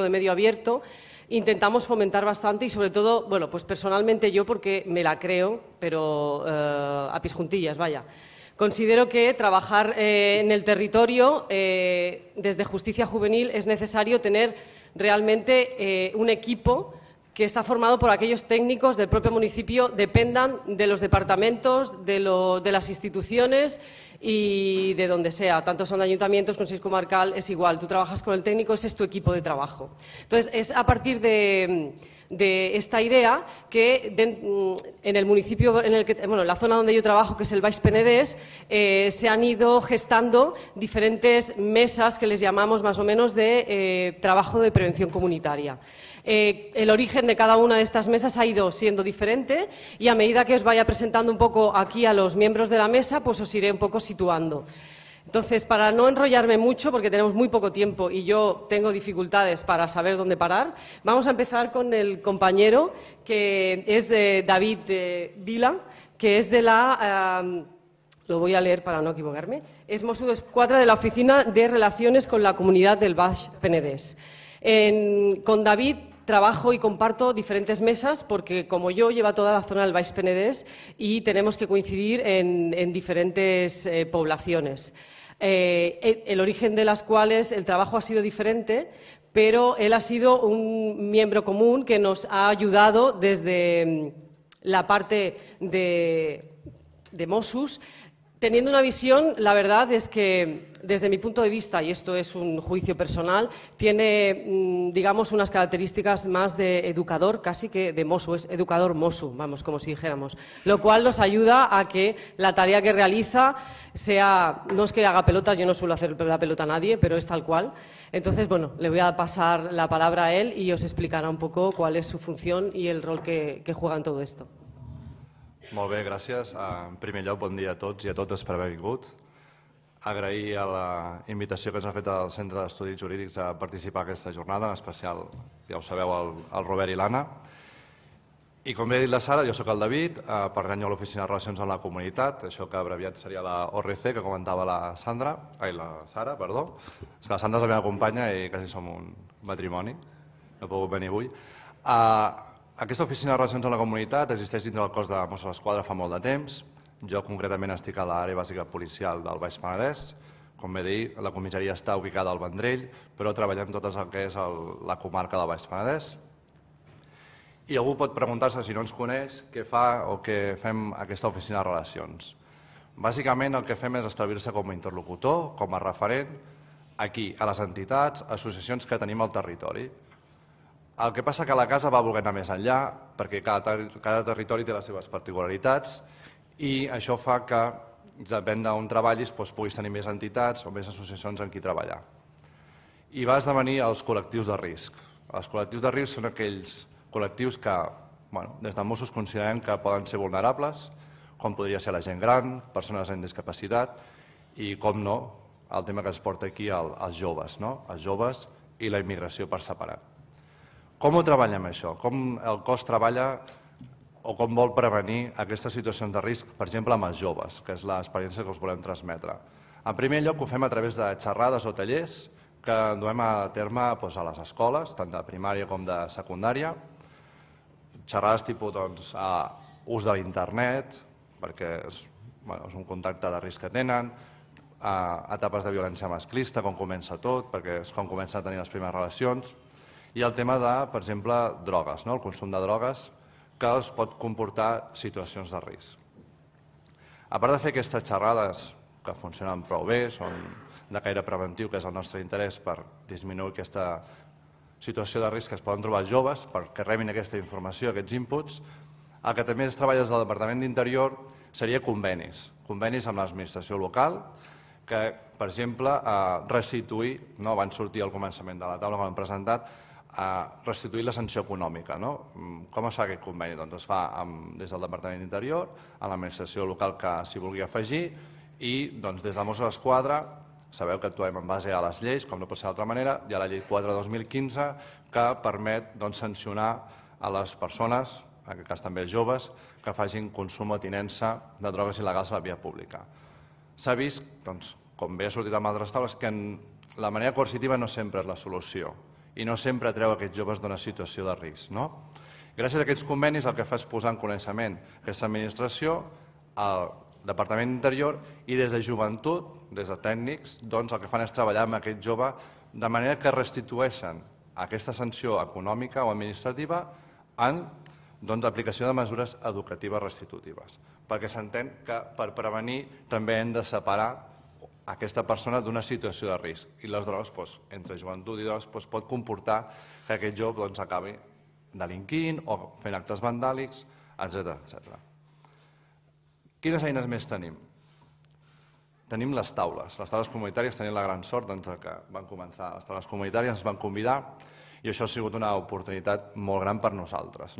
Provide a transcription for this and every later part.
de medio abierto, intentamos fomentar bastante y sobre todo, bueno, pues personalmente yo porque me la creo, pero a pis juntillas, vaya. Considero que trabajar en el territorio desde Justicia Juvenil es necesario tener realmente un equipo que está formado por aquellos técnicos del propio municipio, dependan de los departamentos, de las instituciones y de donde sea. Tanto son de ayuntamientos, consejo comarcal, es igual. Tú trabajas con el técnico, ese es tu equipo de trabajo. Entonces, es a partir de esta idea que en el municipio, en la zona donde yo trabajo, que es el Baix Penedès, se han ido gestando diferentes mesas que les llamamos más o menos de trabajo de prevención comunitaria. El origen de cada una de estas mesas ha ido siendo diferente y a medida que os vaya presentando un poco aquí a los miembros de la mesa, pues os iré un poco situando. Entonces, para no enrollarme mucho, porque tenemos muy poco tiempo y yo tengo dificultades para saber dónde parar, vamos a empezar con el compañero que es David Vila, que es de la... lo voy a leer para no equivocarme. Es Mosso d'Esquadra de la Oficina de Relaciones con la Comunidad del Baix Penedès. Con David trabajo y comparto diferentes mesas porque, como yo, lleva toda la zona del Baix Penedès y tenemos que coincidir en diferentes poblaciones. El origen de las cuales el trabajo ha sido diferente, pero él ha sido un miembro común que nos ha ayudado desde la parte de Mossos, teniendo una visión. La verdad es que, desde mi punto de vista, y esto es un juicio personal, tiene, digamos, unas características más de educador, casi que de Mosso, es educador Mosso, vamos, como si dijéramos, lo cual nos ayuda a que la tarea que realiza sea, no es que haga pelotas, yo no suelo hacer la pelota a nadie, pero es tal cual. Entonces, bueno, le voy a pasar la palabra a él y os explicará un poco cuál es su función y el rol que juega en todo esto. Molt bé, gràcies. En primer lloc, bon dia a tots i a totes per haver vingut. Agrair a la invitació que ens ha fet el Centre d'Estudis Jurídics a participar en aquesta jornada, en especial, ja ho sabeu, el Robert i l'Anna. I com bé ha dit la Sara, jo sóc el David, pertanyo a l'Oficina de Relacions amb la Comunitat, això que abreviat seria la ORC, que comentava la Sara, perdó. És que la Sandra és la meva companya i quasi som un matrimoni, no he pogut venir avui. Aquesta oficina de relacions amb la comunitat existeix dintre del cos de Mossos d'Esquadra fa molt de temps. Jo concretament estic a l'àrea bàsica policial del Baix Penedès. Com bé dir, la comissaria està ubicada al Vendrell, però treballem tot el que és la comarca del Baix Penedès. I algú pot preguntar-se, si no ens coneix, què fa o què fem a aquesta oficina de relacions. Bàsicament el que fem és establir-se com a interlocutor, com a referent, aquí, a les entitats, associacions que tenim al territori. El que passa que la casa va voler anar més enllà, perquè cada territori té les seves particularitats i això fa que, depèn d'on treballis, puguis tenir més entitats o més associacions en qui treballar. I va esdevenir els col·lectius de risc. Els col·lectius de risc són aquells col·lectius que, des de Mossos considerem que poden ser vulnerables, com podria ser la gent gran, persones amb discapacitat i, com no, el tema que ens porta aquí, els joves, els joves i la immigració per separat. Com ho treballem això? Com el cos treballa o com vol prevenir aquestes situacions de risc, per exemple, amb els joves, que és l'experiència que us volem transmetre? En primer lloc, ho fem a través de xerrades o tallers que duem a terme a les escoles, tant de primària com de secundària. Xerrades tipus ús de l'internet, perquè és un contacte de risc que tenen, etapes de violència masclista, com comença tot, perquè és com comencen a tenir les primeres relacions, i el tema de, per exemple, drogues, el consum de drogues, que els pot comportar situacions de risc. A part de fer aquestes xerrades, que funcionen prou bé, són de caire preventiu, que és el nostre interès per disminuir aquesta situació de risc que es poden trobar els joves, perquè rebin aquesta informació, aquests inputs, el que també es treballa des del Departament d'Interior seria convenis amb l'administració local, que, per exemple, restituir, abans sortia al començament de la taula que hem presentat, restituir la sanció econòmica. Com es fa aquest conveni? Doncs es fa des del Departament d'Interior, a l'administració local que s'hi vulgui afegir i des de Mossos d'Esquadra, sabeu que actuem en base a les lleis, com no pot ser d'altra manera, hi ha la llei 4/2015 que permet sancionar a les persones, en aquest cas també els joves, que facin consum o tinença de drogues il·legals a la via pública. S'ha vist, com bé ha sortit amb altres taules, que la manera coercitiva no sempre és la solució i no sempre treu aquests joves d'una situació de risc. Gràcies a aquests convenis el que fa és posar en coneixement aquesta administració, el Departament d'Interior i des de joventut, des de tècnics, el que fan és treballar amb aquest jove de manera que restitueixen aquesta sanció econòmica o administrativa en aplicació de mesures educatives restitutives, perquè s'entén que per prevenir també hem de separar aquesta persona d'una situació de risc i les drogues, entre joventut i drogues, pot comportar que aquest jove acabi delinquint o fent actes vandàlics, etc. Quines eines més tenim? Tenim les taules comunitàries, tenim la gran sort que van començar les taules comunitàries, ens van convidar i això ha sigut una oportunitat molt gran per nosaltres.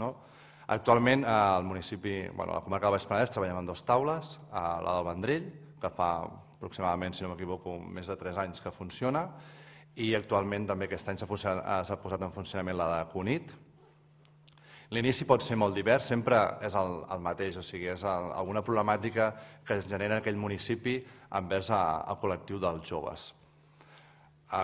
Actualment al municipi, a la comarca del Baix Penedès treballem en 2 taules, la del Vendrell, que fa aproximadament, si no m'equivoco, més de 3 anys que funciona, i actualment també aquest any s'ha posat en funcionament la de Cunit. L'inici pot ser molt divers, sempre és el mateix, o sigui, és alguna problemàtica que es genera en aquell municipi envers el col·lectiu dels joves.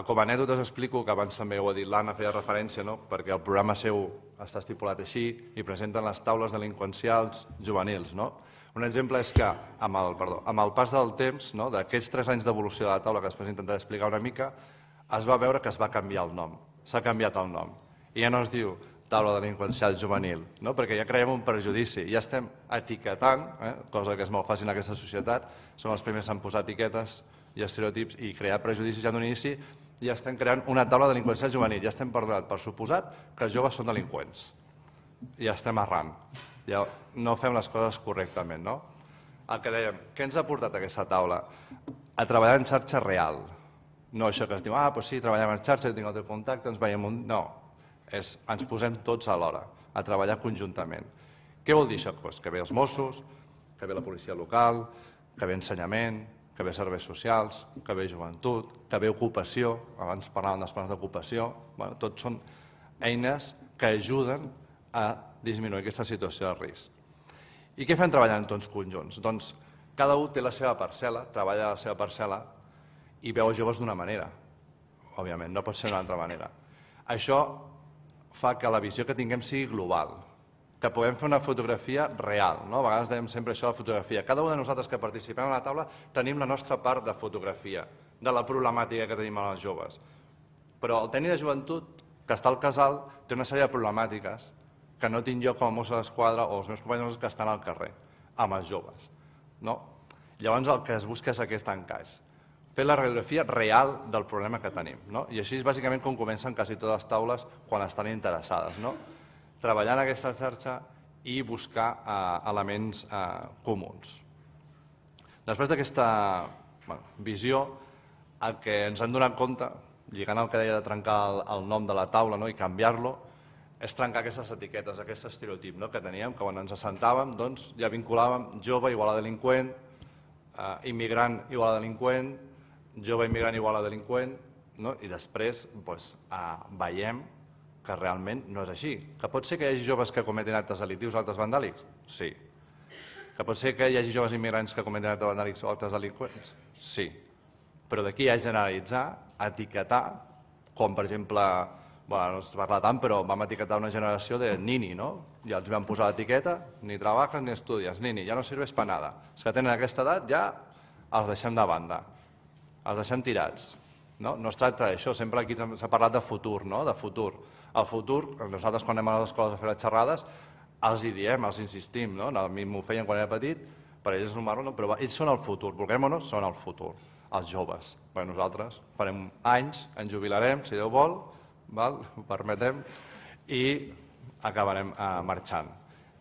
Com a anècdota us explico, que abans també ho ha dit l'Anna, feia referència, perquè el programa seu està estipulat així i presenten les taules delinqüencials juvenils. Un exemple és que amb el pas del temps, d'aquests 3 anys d'evolució de la taula, que després intentaré explicar una mica, es va veure que es va canviar el nom, s'ha canviat el nom, i ja no es diu taula delinqüencial juvenil, perquè ja creiem un prejudici, ja estem etiquetant, cosa que és molt fàcil en aquesta societat, som els primers en posar etiquetes i estereotips i crear prejudicis ja d'un inici, ja estem creant una taula delinqüencial juvenil, ja estem perdonant per suposat que els joves són delinqüents, ja estem errant, ja no fem les coses correctament. El que dèiem, què ens ha portat aquesta taula? A treballar en xarxa real, no això que es diu, doncs sí, treballem en xarxa, jo tinc el teu contacte, ens veiem un... No, ens posem tots alhora a treballar conjuntament. Què vol dir això? Que ve els Mossos, que ve la policia local, que ve ensenyament, que ve serveis socials, que ve joventut, que ve ocupació, abans parlàvem dels plans d'ocupació, tots són eines que ajuden a disminuir aquesta situació de risc. I què fem treballant tots conjunts? Doncs cada un té la seva parcel·la, treballa la seva parcel·la i veu els joves d'una manera, òbviament, no pot ser d'una altra manera. Això fa que la visió que tinguem sigui global, que puguem fer una fotografia real. A vegades dèiem sempre això de la fotografia. Cada un de nosaltres que participem a la taula tenim la nostra part de fotografia, de la problemàtica que tenim amb els joves. Però el tècnic de joventut, que està al casal, té una sèrie de problemàtiques que no tinc jo com a mosso d'esquadra o els meus companys que estan al carrer, amb els joves. Llavors el que es busca és aquest encaix, fer la radiografia real del problema que tenim. I així és bàsicament com comencen quasi totes les taules quan estan interessades. Treballar en aquesta xarxa i buscar elements comuns. Després d'aquesta visió, el que ens hem donat compte, lligant el que deia de trencar el nom de la taula i canviar-lo, és trencar aquestes etiquetes, aquest estereotip que teníem, que quan ens assentàvem ja vinculàvem jove igual a delinqüent, immigrant igual a delinqüent, jove immigrant igual a delinqüent, i després veiem que realment no és així. Que pot ser que hi hagi joves que cometin actes delictius o actes vandàlics? Sí. Que pot ser que hi hagi joves immigrants que cometin actes vandàlics o actes delinqüents? Sí. Però d'aquí a generalitzar, etiquetar, com per exemple, no es parla tant, però vam etiquetar una generació de nini, ja els vam posar l'etiqueta, ni trabajas ni estudias, nini, ja no sirves per nada. Els que tenen aquesta edat ja els deixem de banda, els deixem tirats. No es tracta d'això, sempre aquí s'ha parlat de futur, de futur. El futur, nosaltres quan anem a les escoles a fer les xerrades, els hi diem, els insistim, a mi m'ho feien quan era petit, per ells és normal, però ells són el futur, vulguem o no, són el futur, els joves. Nosaltres farem anys, ens jubilarem, si Déu vol, ho permetem, i acabarem marxant.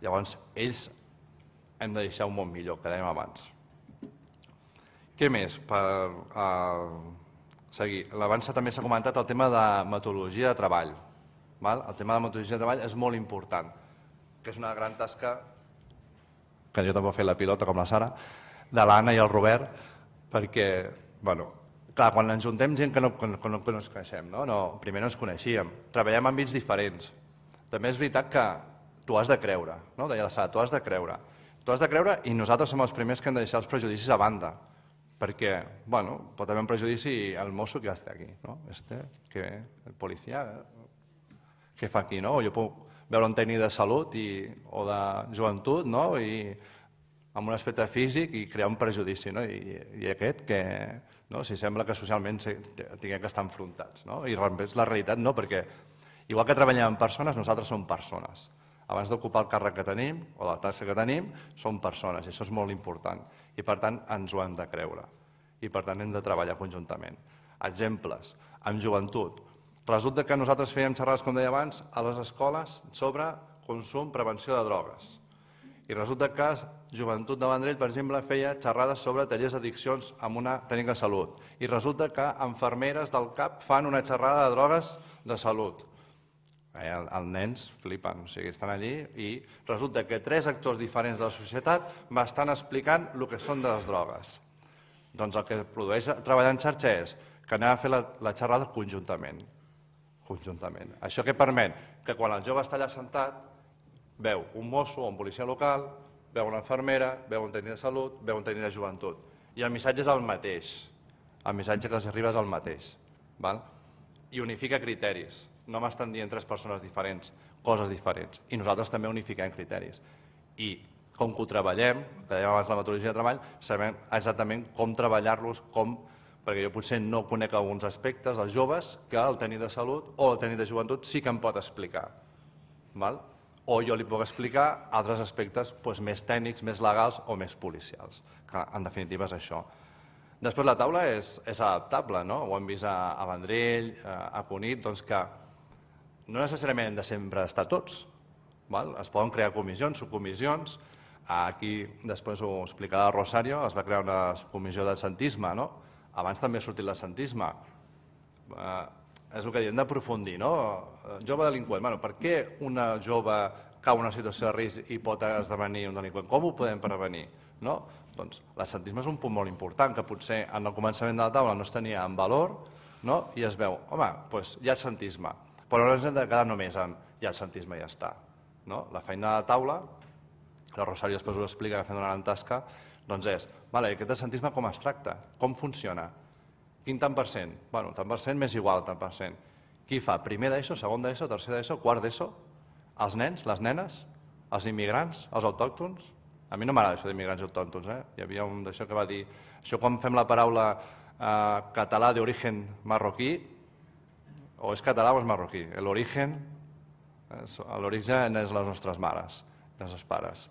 Llavors, ells hem de deixar un món millor, que dèiem abans. Què més? Per seguir. Abans també s'ha comentat el tema de metodologia de treball. El tema de metodologia de treball és molt important, que és una gran tasca, que jo també he fet la pilota com la Sara, de l'Anna i el Robert, perquè, clar, quan ens juntem gent que no ens coneixem, primer no ens coneixíem, treballem en àmbits diferents. També és veritat que tu has de creure, deia la Sara, tu has de creure i nosaltres som els primers que hem de deixar els prejudicis a banda. Perquè, bueno, pot haver un prejudici el mosso que hace aquí, ¿no? El policía, què fa aquí, no? O jo puc veure un tècnic de salut o de joventut, no? I amb un aspecte físic i crear un prejudici, no? I aquest que, no? Si sembla que socialment tinguem que estar enfrontats, no? I és la realitat no, perquè igual que treballem amb persones, nosaltres som persones. Abans d'ocupar el càrrec que tenim o la tasca que tenim, som persones i això és molt important i per tant ens ho hem de creure i per tant hem de treballar conjuntament. Exemples, amb joventut. Resulta que nosaltres fèiem xerrades, com deia abans, a les escoles sobre consum, prevenció de drogues. I resulta que Joventut de Vendrell, per exemple, feia xerrades sobre tallers d'addiccions amb una tècnica de salut. I resulta que infermeres del CAP fan una xerrada de drogues de salut. Els nens flipen, o sigui, estan allí i resulta que 3 actors diferents de la societat m'estan explicant el que són de les drogues. Doncs el que produeix treballar en xarxa és que anem a fer la xerrada conjuntament. Això que permet que quan el jove està allà sentat veu un mosso o un policia local, veu una infermera, veu un tècnic de salut, veu un tècnic de joventut. I el missatge és el mateix. El missatge que els arriba és el mateix. I unifica criteris. No m'estan dient 3 persones diferents, coses diferents. I nosaltres també unifiquem criteris. I com que ho treballem, que dèiem abans la metodologia de treball, sabem exactament com treballar-los, perquè jo potser no conec alguns aspectes dels joves que el tècnic de salut o el tècnic de joventut sí que em pot explicar. O jo li puc explicar altres aspectes més tècnics, més legals o més policials, que en definitiva és això. Després la taula és adaptable, ho hem vist a Vendrell, a Cunit, doncs que no necessàriament hem de sempre estar tots. Es poden crear comissions, subcomissions. Aquí després ho explicarà Rosario, es va crear una comissió d'absentisme. Abans també ha sortit l'absentisme. És el que hem d'aprofundir. Jove delinqüent, per què una jove cau en una situació de risc i pot esdevenir un delinqüent? Com ho podem prevenir? Doncs l'absentisme és un punt molt important que potser en el començament de la taula no es tenia en valor i es veu, home, hi ha absentisme, però no ens hem de quedar només amb hi ha absentisme i ja està. La feina de la taula, la Rosario després ho explica fent una gran tasca, doncs és, aquest absentisme com es tracta, com funciona, quin tant per cent? Bueno, tant per cent m'és igual, tant per cent. Qui fa? Primer d'ESO, segon d'ESO, tercer d'ESO, quart d'ESO? Els nens, les nenes, els immigrants, els autòctons? A mi no m'agrada això d'immigrants i autòctons. Hi havia un d'això que va dir, això quan fem la paraula català d'origen marroquí, o és català o és marroquí. L'origen és les nostres mares, els nostres pares.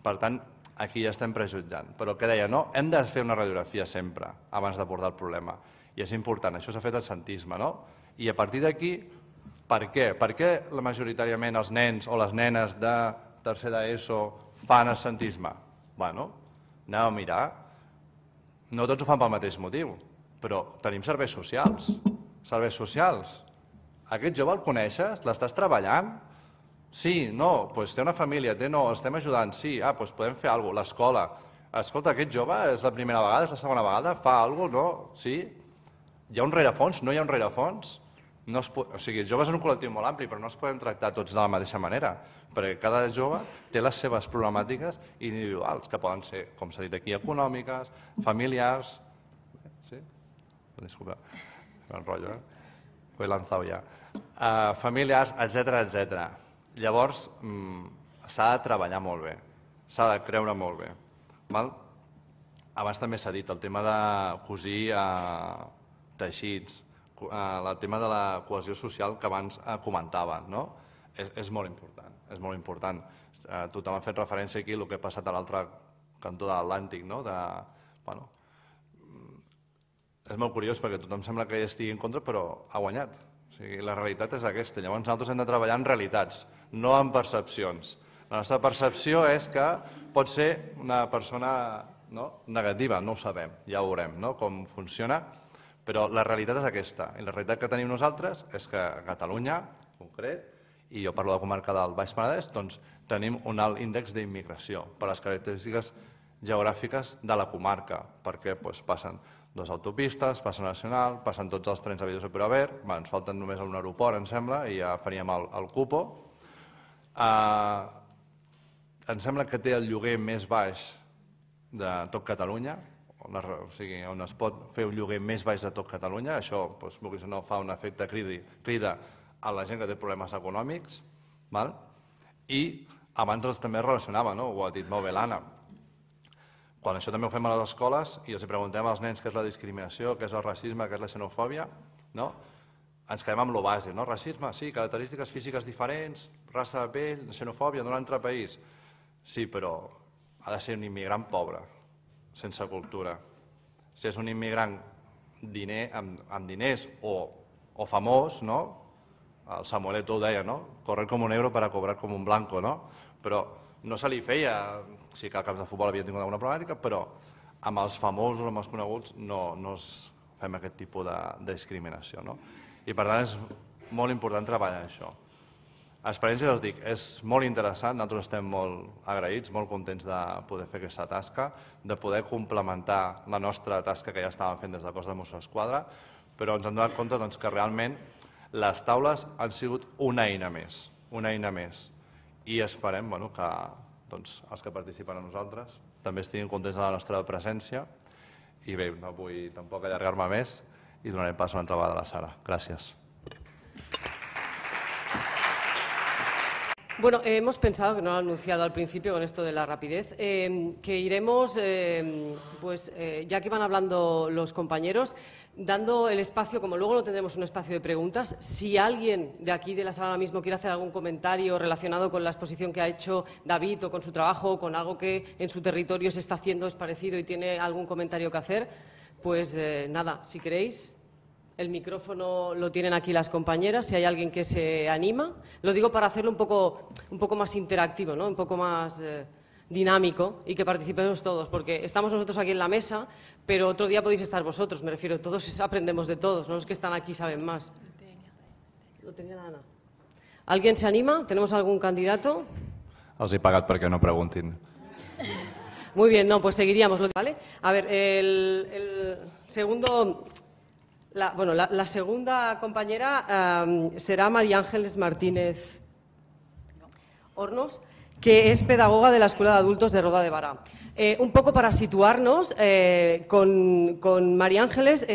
Per tant, aquí ja estem prejutjant. Però què deia, hem de fer una radiografia sempre abans d'abordar el problema. I és important, això s'ha fet absentisme. I a partir d'aquí, per què? Per què majoritàriament els nens o les nenes de tercer d'ESO fan absentisme? Anem a mirar. No tots ho fan pel mateix motiu, però tenim serveis socials. Serveis socials. Aquest jove el coneixes? L'estàs treballant? Sí, no, té una família, no, estem ajudant, sí, doncs podem fer alguna cosa. L'escola. Escolta, aquest jove és la primera vegada, és la segona vegada, fa alguna cosa, no? Sí? Hi ha un rerefons? No hi ha un rerefons? O sigui, els joves és un col·lectiu molt ampli, però no els podem tractar tots de la mateixa manera, perquè cada jove té les seves problemàtiques individuals, que poden ser, com s'ha dit aquí, econòmiques, familiars... Sí? Disculpa, m'enrotllo, ho he lanzado ja. Familiars, etc. Llavors, s'ha de treballar molt bé, s'ha de creure molt bé. Abans també s'ha dit el tema de cosir teixits, el tema de la cohesió social que abans comentaven, és molt important, és molt important. Tothom ha fet referència aquí a el que ha passat a l'altre cantó de l'Atlàntic. És molt curiós perquè tothom sembla que hi estigui en contra, però ha guanyat. La realitat és aquesta. Llavors nosaltres hem de treballar en realitats, no en percepcions. La nostra percepció és que pot ser una persona negativa, no ho sabem, ja ho veurem com funciona, però la realitat és aquesta. I la realitat que tenim nosaltres és que a Catalunya, en concret, i jo parlo de la comarca del Baix Penedès, doncs tenim un alt índex d'immigració per les característiques geogràfiques de la comarca, perquè passen 2 autopistes, passen nacional, passen tots els trens habidos per haver, ens falten només un aeroport, em sembla, i ja faríem el cupo. Em sembla que té el lloguer més baix de tot Catalunya, on es pot fer un lloguer més baix de tot Catalunya. Això, vulguis o no, fa un efecte crida a la gent que té problemes econòmics. I abans també es relacionava, ho ha dit molt bé l'Anna. Quan això també ho fem a les escoles i els preguntem als nens què és la discriminació, què és el racisme, què és la xenofòbia, ens quedem amb lo base. Racisme, sí, característiques físiques diferents, raça de pell, xenofòbia d'un altre país. Sí, però ha de ser un immigrant pobre, sense cultura. Si és un immigrant amb diners o famós, el Samueleto ho deia, correr com un negro para cobrar com un blanco, però no se li feia, sí que al camp de futbol havia tingut alguna problemàtica, però amb els famosos o amb els coneguts no fem aquest tipus de discriminació. I per tant és molt important treballar això. L'experiència, us dic, és molt interessant, nosaltres estem molt agraïts, molt contents de poder fer aquesta tasca, de poder complementar la nostra tasca que ja estàvem fent des del cos de Mossos d'Esquadra, però ens hem donat compte que realment les taules han sigut una eina més, i esperem que els que participen amb nosaltres també estiguin contents de la nostra presència. I bé, no vull tampoc allargar-me més i donaré pas una altra vegada a la Sara. Gràcies. Bueno, hemos pensado, que no lo he anunciado al principio con esto de la rapidez, que iremos, ya que van hablando los compañeros, dando el espacio, como luego no tendremos un espacio de preguntas, si alguien de aquí de la sala ahora mismo quiere hacer algún comentario relacionado con la exposición que ha hecho David o con su trabajo o con algo que en su territorio se está haciendo, es parecido y tiene algún comentario que hacer, pues nada, si queréis. El micrófono lo tienen aquí las compañeras, si hay alguien que se anima. Lo digo para hacerlo un poco más interactivo, un poco más dinámico y que participemos todos, porque estamos nosotros aquí en la mesa, pero otro día podéis estar vosotros, me refiero, todos aprendemos de todos, no los que están aquí saben más. No tenía nada. ¿Alguien se anima? ¿Tenemos algún candidato? Els he pagat perquè no preguntin. Muy bien, pues seguiríamos, ¿vale? A ver, el segundo... La segunda compañera será María Ángeles Martínez Hornos, que es pedagoga de la Escuela de Adultos de Roda de Bará. Un poco para situarnos, con María Ángeles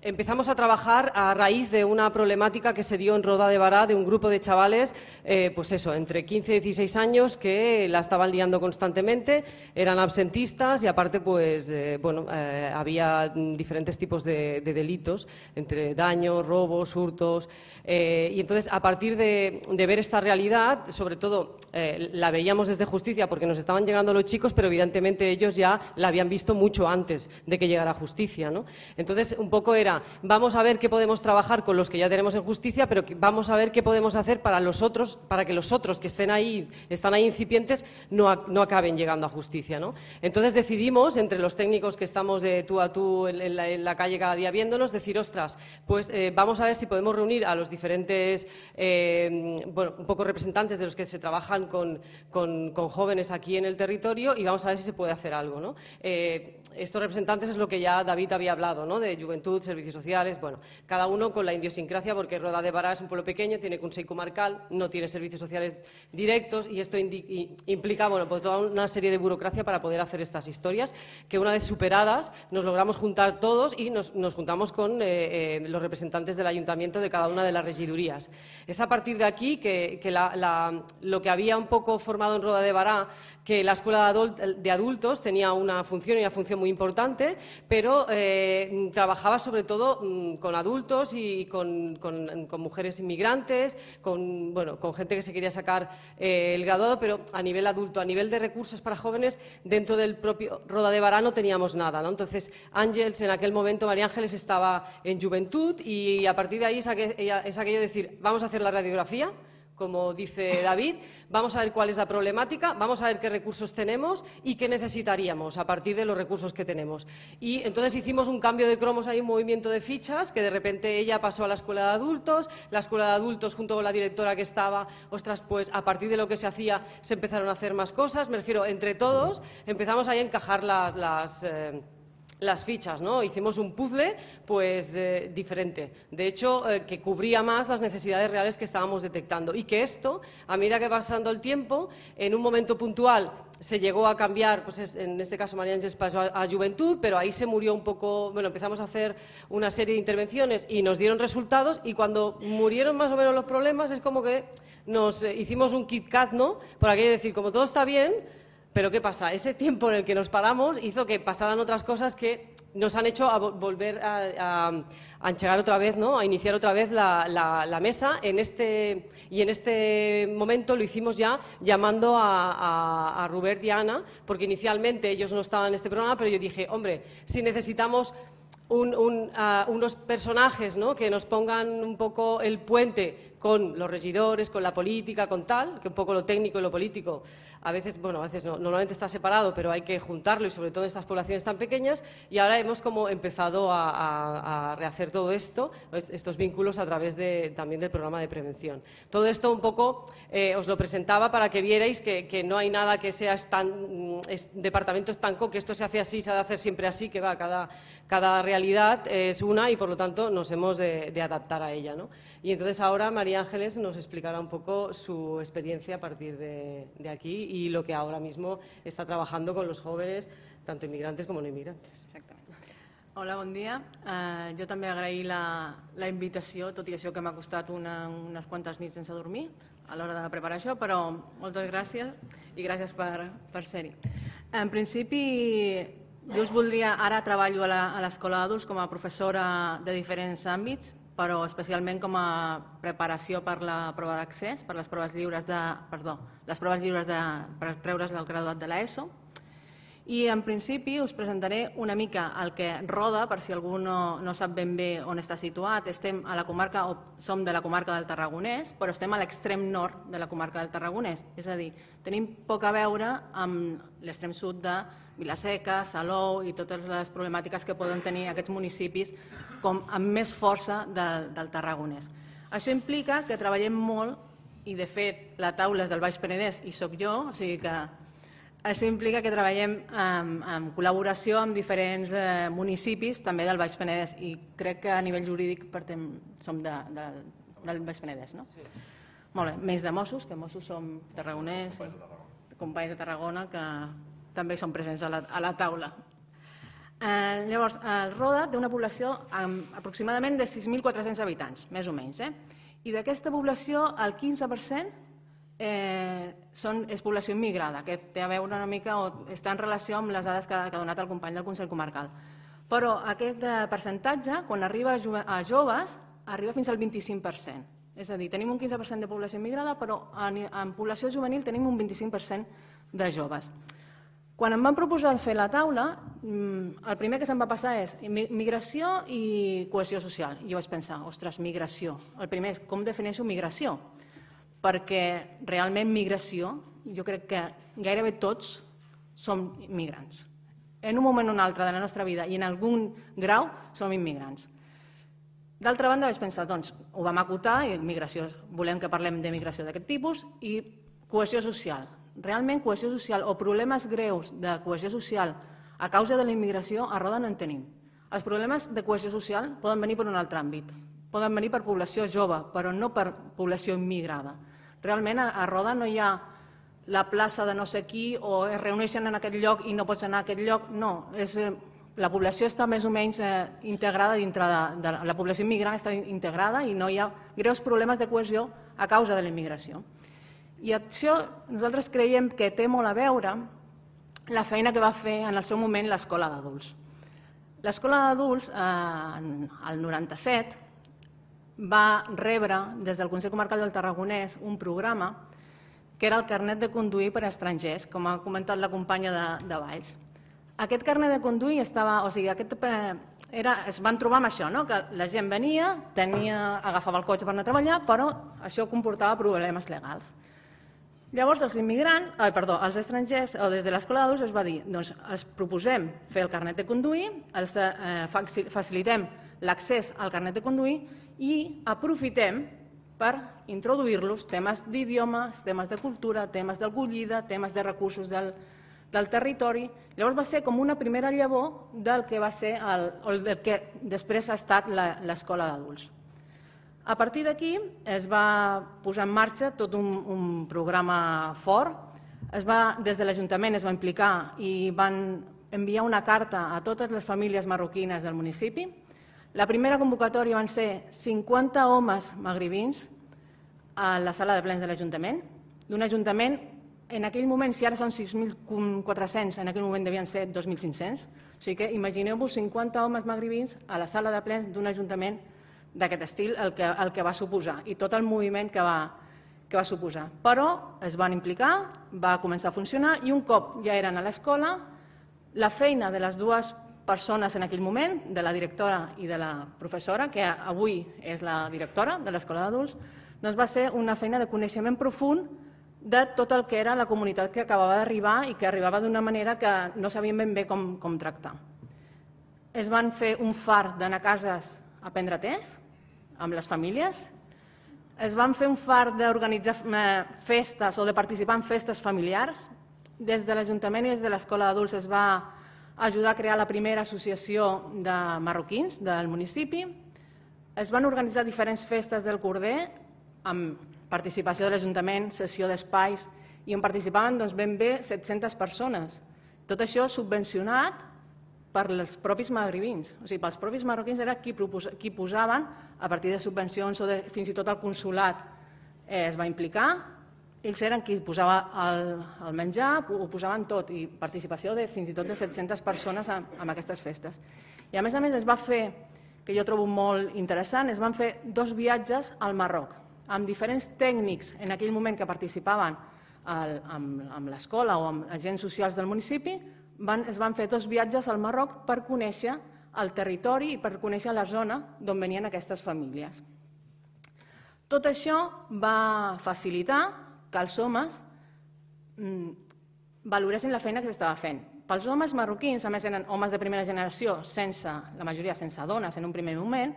empezamos a trabajar a raíz de una problemática que se dio en Roda de Bará de un grupo de chavales, entre 15 y 16 años, que la estaban liando constantemente, eran absentistas y aparte había diferentes tipos de delitos, entre daños, robos, hurtos, y entonces a partir de ver esta realidad, sobre todo la veíamos desde Justicia porque nos estaban llegando los chicos, pero evidentemente ellos ya la habían visto mucho antes de que llegara Justicia, Entonces un poco era, vamos a ver qué podemos trabajar con los que ya tenemos en Justicia, pero vamos a ver qué podemos hacer para que los otros que están ahí incipientes no acaben llegando a Justicia, Entonces decidimos, entre los técnicos que estamos de tú a tú en la calle cada día viéndonos, decir, ostras, vamos a ver si podemos reunir a los diferentes un poco representantes de los que se trabajan con jóvenes aquí en el territorio y vamos a ver si se puede hacer algo, Estos representantes es lo que ya David había hablado, de juventud, servicios sociales, cada uno con la idiosincrasia, porque Roda de Bará es un pueblo pequeño, tiene consejo comarcal, no tiene servicios sociales directos y esto implica toda una serie de burocracia para poder hacer estas historias, que una vez superadas nos logramos juntar todos y nos juntamos con los representantes del ayuntamiento de cada una de las regidurías. Es a partir de aquí que lo que había un poco formado en Roda de Bará, que la escuela de adultos tenía una función muy importante, pero trabajaba sobre todo con adultos y con mujeres inmigrantes, con gente que se quería sacar el graduado, pero a nivel adulto, a nivel de recursos para jóvenes, dentro del propio Roda de Bará no teníamos nada, Entonces Ángels, en aquel momento María Ángeles estaba en juventud y a partir de ahí es aquello de decir, vamos a hacer la radiografía, como dice David, vamos a ver cuál es la problemática, vamos a ver qué recursos tenemos y qué necesitaríamos a partir de los recursos que tenemos. Y entonces hicimos un cambio de cromos, ahí un movimiento de fichas, que de repente ella pasó a la escuela de adultos junto con la directora que estaba, a partir de lo que se hacía se empezaron a hacer más cosas, me refiero, entre todos empezamos ahí a encajar las fichas, ¿no? Hicimos un puzzle pues diferente, de hecho que cubría más las necesidades reales que estábamos detectando, y que esto, a medida que va pasando el tiempo, en un momento puntual se llegó a cambiar, pues en este caso María Ángeles pasó a Juventud, pero ahí se murió un poco, bueno, empezamos a hacer una serie de intervenciones y nos dieron resultados, y cuando murieron más o menos los problemas es como que nos hicimos un Kit Kat, ¿no? Por aquello de decir, como todo está bien, pero ¿qué pasa? Ese tiempo en el que nos paramos hizo que pasaran otras cosas que nos han hecho volver a enchegar otra vez, ¿no? A iniciar otra vez la mesa. Y en este momento lo hicimos ya llamando a Robert y a Ana, porque inicialmente ellos no estaban en este programa, pero yo dije, hombre, si necesitamos unos personajes, ¿no? Que nos pongan un poco el puente con los regidores, con la política, con tal, que un poco lo técnico y lo político a veces, bueno, a veces no, normalmente está separado, pero hay que juntarlo, y sobre todo en estas poblaciones tan pequeñas, y ahora hemos como empezado a rehacer todo esto, estos vínculos a través también del programa de prevención. Todo esto un poco os lo presentaba para que vierais que no hay nada que sea departamento estanco, que esto se hace así, se ha de hacer siempre así, que va, cada realidad es una, y por lo tanto nos hemos de adaptar a ella, ¿no? Y entonces ahora María Ángeles nos explicará un poco su experiencia a partir de aquí y lo que ahora mismo está trabajando con los jóvenes, tanto inmigrantes como no inmigrantes. Exactament. Hola, bon dia. Jo també agrair la invitació, tot i això que m'ha costat unes quantes nits sense dormir a l'hora de preparar això, però moltes gràcies i gràcies per ser-hi. En principi, jo us voldria... Ara treballo a l'Escola d'Adults com a professora de diferents àmbits, però especialment com a preparació per la prova d'accés, per les proves lliures per treure's del graduat de l'ESO. I en principi us presentaré una mica el que roda, per si algú no sap ben bé on està situat. Estem a la comarca, o som de la comarca del Tarragonès, però estem a l'extrem nord de la comarca del Tarragonès. És a dir, tenim poc a veure amb l'extrem sud de Vila-seca, Salou i totes les problemàtiques que poden tenir aquests municipis com amb més força del Tarragonès. Això implica que treballem molt, i de fet la taula és del Baix Penedès i soc jo, o sigui que això implica que treballem en col·laboració amb diferents municipis també del Baix Penedès, i crec que a nivell jurídic som del Baix Penedès, no? Sí. Molt bé, més de Mossos, que Mossos som tarragonès, companys de Tarragona que també són presents a la taula. Llavors, el Roda té una població aproximadament de 6.400 habitants, més o menys, i d'aquesta població el 15% és població immigrada, que té a veure una mica o està en relació amb les dades que ha donat el company del Consell Comarcal. Però aquest percentatge, quan arriba a joves, arriba fins al 25%. És a dir, tenim un 15% de població immigrada, però en població juvenil tenim un 25% de joves. Quan em van proposar fer la taula, el primer que se'm va passar és migració i cohesió social. I jo vaig pensar, ostres, migració. El primer és com defineixo migració, perquè realment migració, jo crec que gairebé tots som immigrants. En un moment o un altre de la nostra vida i en algun grau som immigrants. D'altra banda vaig pensar, doncs, ho vam acotar, i volem que parlem de migració d'aquest tipus, i cohesió social. Realment cohesió social o problemes greus de cohesió social a causa de la immigració a Roda no en tenim. Els problemes de cohesió social poden venir per un altre àmbit, poden venir per població jove, però no per població immigrada. Realment a Roda no hi ha la plaça de no sé qui o es reuneixen en aquest lloc i no pots anar a aquest lloc, no. La població està més o menys integrada dintre de la població immigrant, està integrada i no hi ha greus problemes de cohesió a causa de la immigració. I això nosaltres creiem que té molt a veure la feina que va fer en el seu moment l'Escola d'Adults. L'Escola d'Adults, el 97, va rebre des del Consell Comarcal del Tarragonès un programa que era el carnet de conduir per a estrangers, com ha comentat la companya de Valls. Aquest carnet de conduir es van trobar amb això, que la gent venia, agafava el cotxe per anar a treballar, però això comportava problemes legals. Llavors els estrangers, o des de l'Escola d'Adults es va dir, doncs els proposem fer el carnet de conduir, els facilitem l'accés al carnet de conduir i aprofitem per introduir-los temes d'idiomes, temes de cultura, temes d'acollida, temes de recursos del territori. Llavors va ser com una primera llavor del que va ser del que després ha estat l'escola d'adults. A partir d'aquí es va posar en marxa tot un programa fort. Des de l'Ajuntament es va implicar i van enviar una carta a totes les famílies marroquines del municipi. La primera convocatòria van ser 50 homes magribins a la sala de plens de l'Ajuntament, d'un Ajuntament, en aquell moment, si ara són 6.400, en aquell moment devien ser 2.500, o sigui que imagineu-vos 50 homes magribins a la sala de plens d'un Ajuntament d'aquest estil, el que va suposar, i tot el moviment que va suposar. Però es van implicar, va començar a funcionar, i un cop ja eren a l'escola, la feina de les dues persones en aquell moment, de la directora i de la professora, que avui és la directora de l'escola d'adults, doncs va ser una feina de coneixement profund de tot el que era la comunitat que acabava d'arribar i que arribava d'una manera que no sabien ben bé com tractar. Es van fer un far d'anar a cases a prendre tés amb les famílies, es van fer un far d'organitzar festes o de participar en festes familiars. Des de l'Ajuntament i des de l'escola d'adults es va ajudar a crear la primera associació de marroquins del municipi. Es van organitzar diferents festes del Corder amb participació de l'Ajuntament, cessió d'espais, i on participaven ben bé 700 persones. Tot això subvencionat per els propis magribins. O sigui, pels propis marroquins era qui posaven a partir de subvencions o fins i tot el consolat es va implicar. Ells eren qui posava el menjar, ho posaven tot, i participació de fins i tot de 700 persones en aquestes festes. I a més es va fer, que jo trobo molt interessant, es van fer 2 viatges al Marroc, amb diferents tècnics en aquell moment que participaven amb l'escola o amb agents socials del municipi. Es van fer 2 viatges al Marroc per conèixer el territori i per conèixer la zona d'on venien aquestes famílies. Tot això va facilitar que els homes valoressin la feina que s'estava fent. Pels homes marroquins, a més eren homes de primera generació, la majoria sense dones en un primer moment,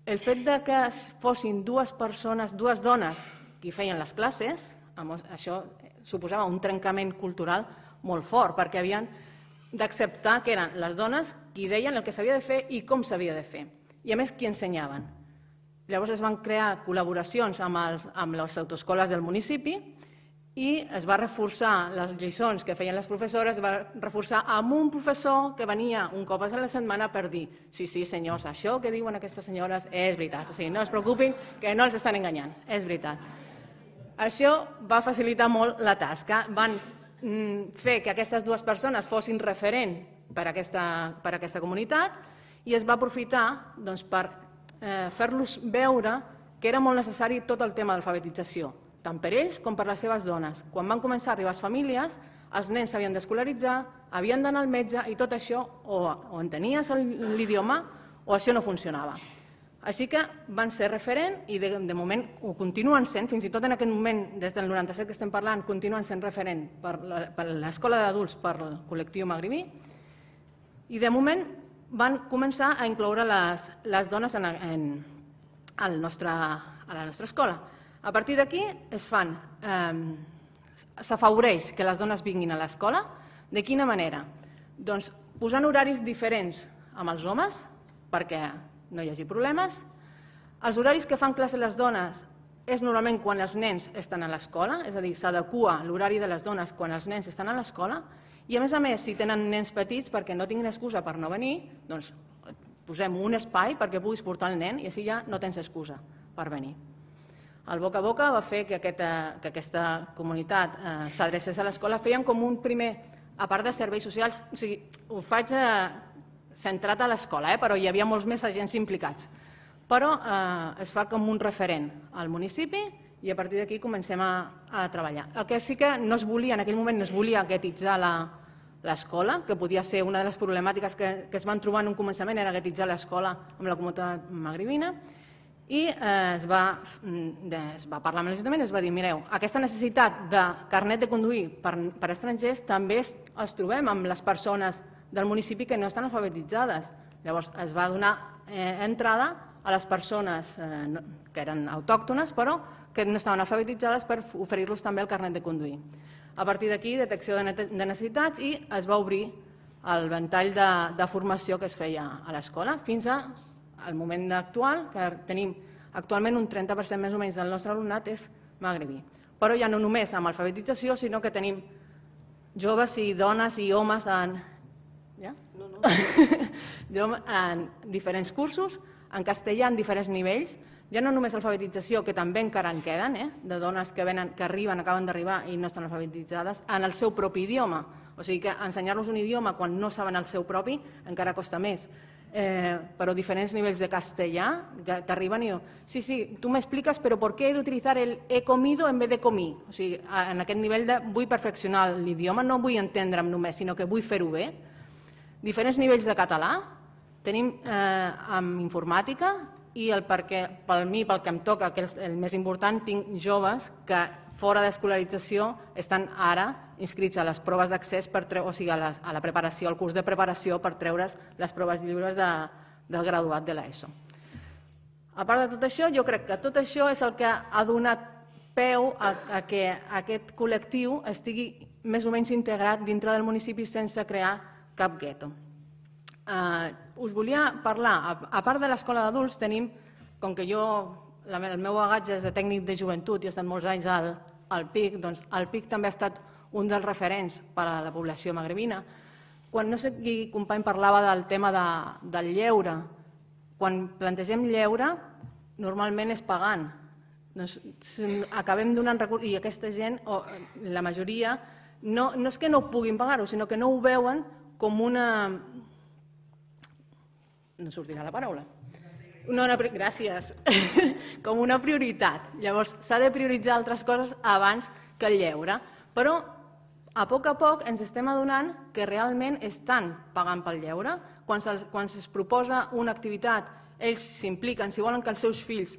el fet que fossin 2 persones, 2 dones qui feien les classes, això suposava un trencament cultural molt fort, perquè havien d'acceptar que eren les dones qui deien el que s'havia de fer i com s'havia de fer, i a més qui ensenyaven. Llavors es van crear col·laboracions amb les autoescoles del municipi i es va reforçar les lliçons que feien les professores, es va reforçar amb un professor que venia un cop a la setmana per dir sí, senyors, això que diuen aquestes senyores és veritat, o sigui, no es preocupin que no els estan enganyant, és veritat. Això va facilitar molt la tasca, van fer que aquestes 2 persones fossin referent per a aquesta comunitat i es va aprofitar per fer-los veure que era molt necessari tot el tema d'alfabetització, tant per ells com per les seves dones. Quan van començar a arribar les famílies, els nens s'havien d'escolaritzar, havien d'anar al metge i tot això o entenies l'idioma o això no funcionava. Així que van ser referent i de moment ho continuen sent, fins i tot en aquest moment, des del 97 que estem parlant, continuen sent referent per l'escola d'adults, per el col·lectiu magribí, i de moment van començar a incloure les dones a la nostra escola. A partir d'aquí s'afavoreix que les dones vinguin a l'escola. De quina manera? Doncs posant horaris diferents amb els homes, perquè no hi hagi problemes. Els horaris que fan classe les dones és normalment quan els nens estan a l'escola, és a dir, s'adequa l'horari de les dones quan els nens estan a l'escola, i a més, si tenen nens petits perquè no tinguin excusa per no venir, doncs posem un espai perquè puguis portar el nen i així ja no tens excusa per venir. El boca a boca va fer que aquesta comunitat s'adrecés a l'escola. Fèiem com un primer, a part de serveis socials, o sigui, ho faig centrat a l'escola, però hi havia molts més agents implicats. Però es fa com un referent al municipi i a partir d'aquí comencem a treballar. El que sí que no es volia, en aquell moment no es volia guetitzar l'escola, que podia ser una de les problemàtiques que es van trobar en un començament, era guetitzar l'escola amb la comunitat magribina, i es va parlar amb l'Ajuntament i es va dir, mireu, aquesta necessitat de carnet de conduir per estrangers també els trobem amb les persones del municipi que no estan alfabetitzades. Llavors es va donar entrada a les persones que eren autòctones però que no estaven alfabetitzades per oferir-los també el carnet de conduir. A partir d'aquí, detecció de necessitats i es va obrir el ventall de formació que es feia a l'escola fins al moment actual, que tenim actualment un 30% més o menys del nostre alumnat és magrebí. Però ja no només amb alfabetització, sinó que tenim joves i dones i homes en diferents cursos, en castellà en diferents nivells, ja no només alfabetització, que també encara en queden, de dones que arriben, acaben d'arribar i no estan alfabetitzades, en el seu propi idioma. O sigui que ensenyar-los un idioma quan no saben el seu propi encara costa més. Però diferents nivells de castellà que t'arriben i diuen, sí, tu m'expliques però per què he d'utilitzar el he comido en vez de comí. O sigui, en aquest nivell de vull perfeccionar l'idioma, no vull entendre'm només, sinó que vull fer-ho bé. Diferents nivells de català, tenim amb informàtica i pel que em toca, que és el més important, tinc joves que fora d'escolarització estan ara inscrits a les proves d'accés, o sigui, a la preparació, al curs de preparació per treure's les proves lliures del graduat de l'ESO. A part de tot això, jo crec que tot això és el que ha donat peu a que aquest col·lectiu estigui més o menys integrat dintre del municipi sense crear cap gueto. Us volia parlar, a part de l'escola d'adults tenim, com que el meu bagatge és de tècnic de joventut i he estat molts anys al PIC, doncs el PIC també ha estat un dels referents per a la població magrebina. Quan no sé qui company parlava del tema del lleure, quan plantegem lleure normalment és pagant. Acabem donant recursos i aquesta gent, la majoria, no és que no puguin pagar-ho, sinó que no ho veuen com una... no sortirà la paraula. Gràcies. Com una prioritat. Llavors, s'ha de prioritzar altres coses abans que el lleure. Però, a poc ens estem adonant que realment estan pagant pel lleure. Quan es proposa una activitat, ells s'impliquen, si volen que els seus fills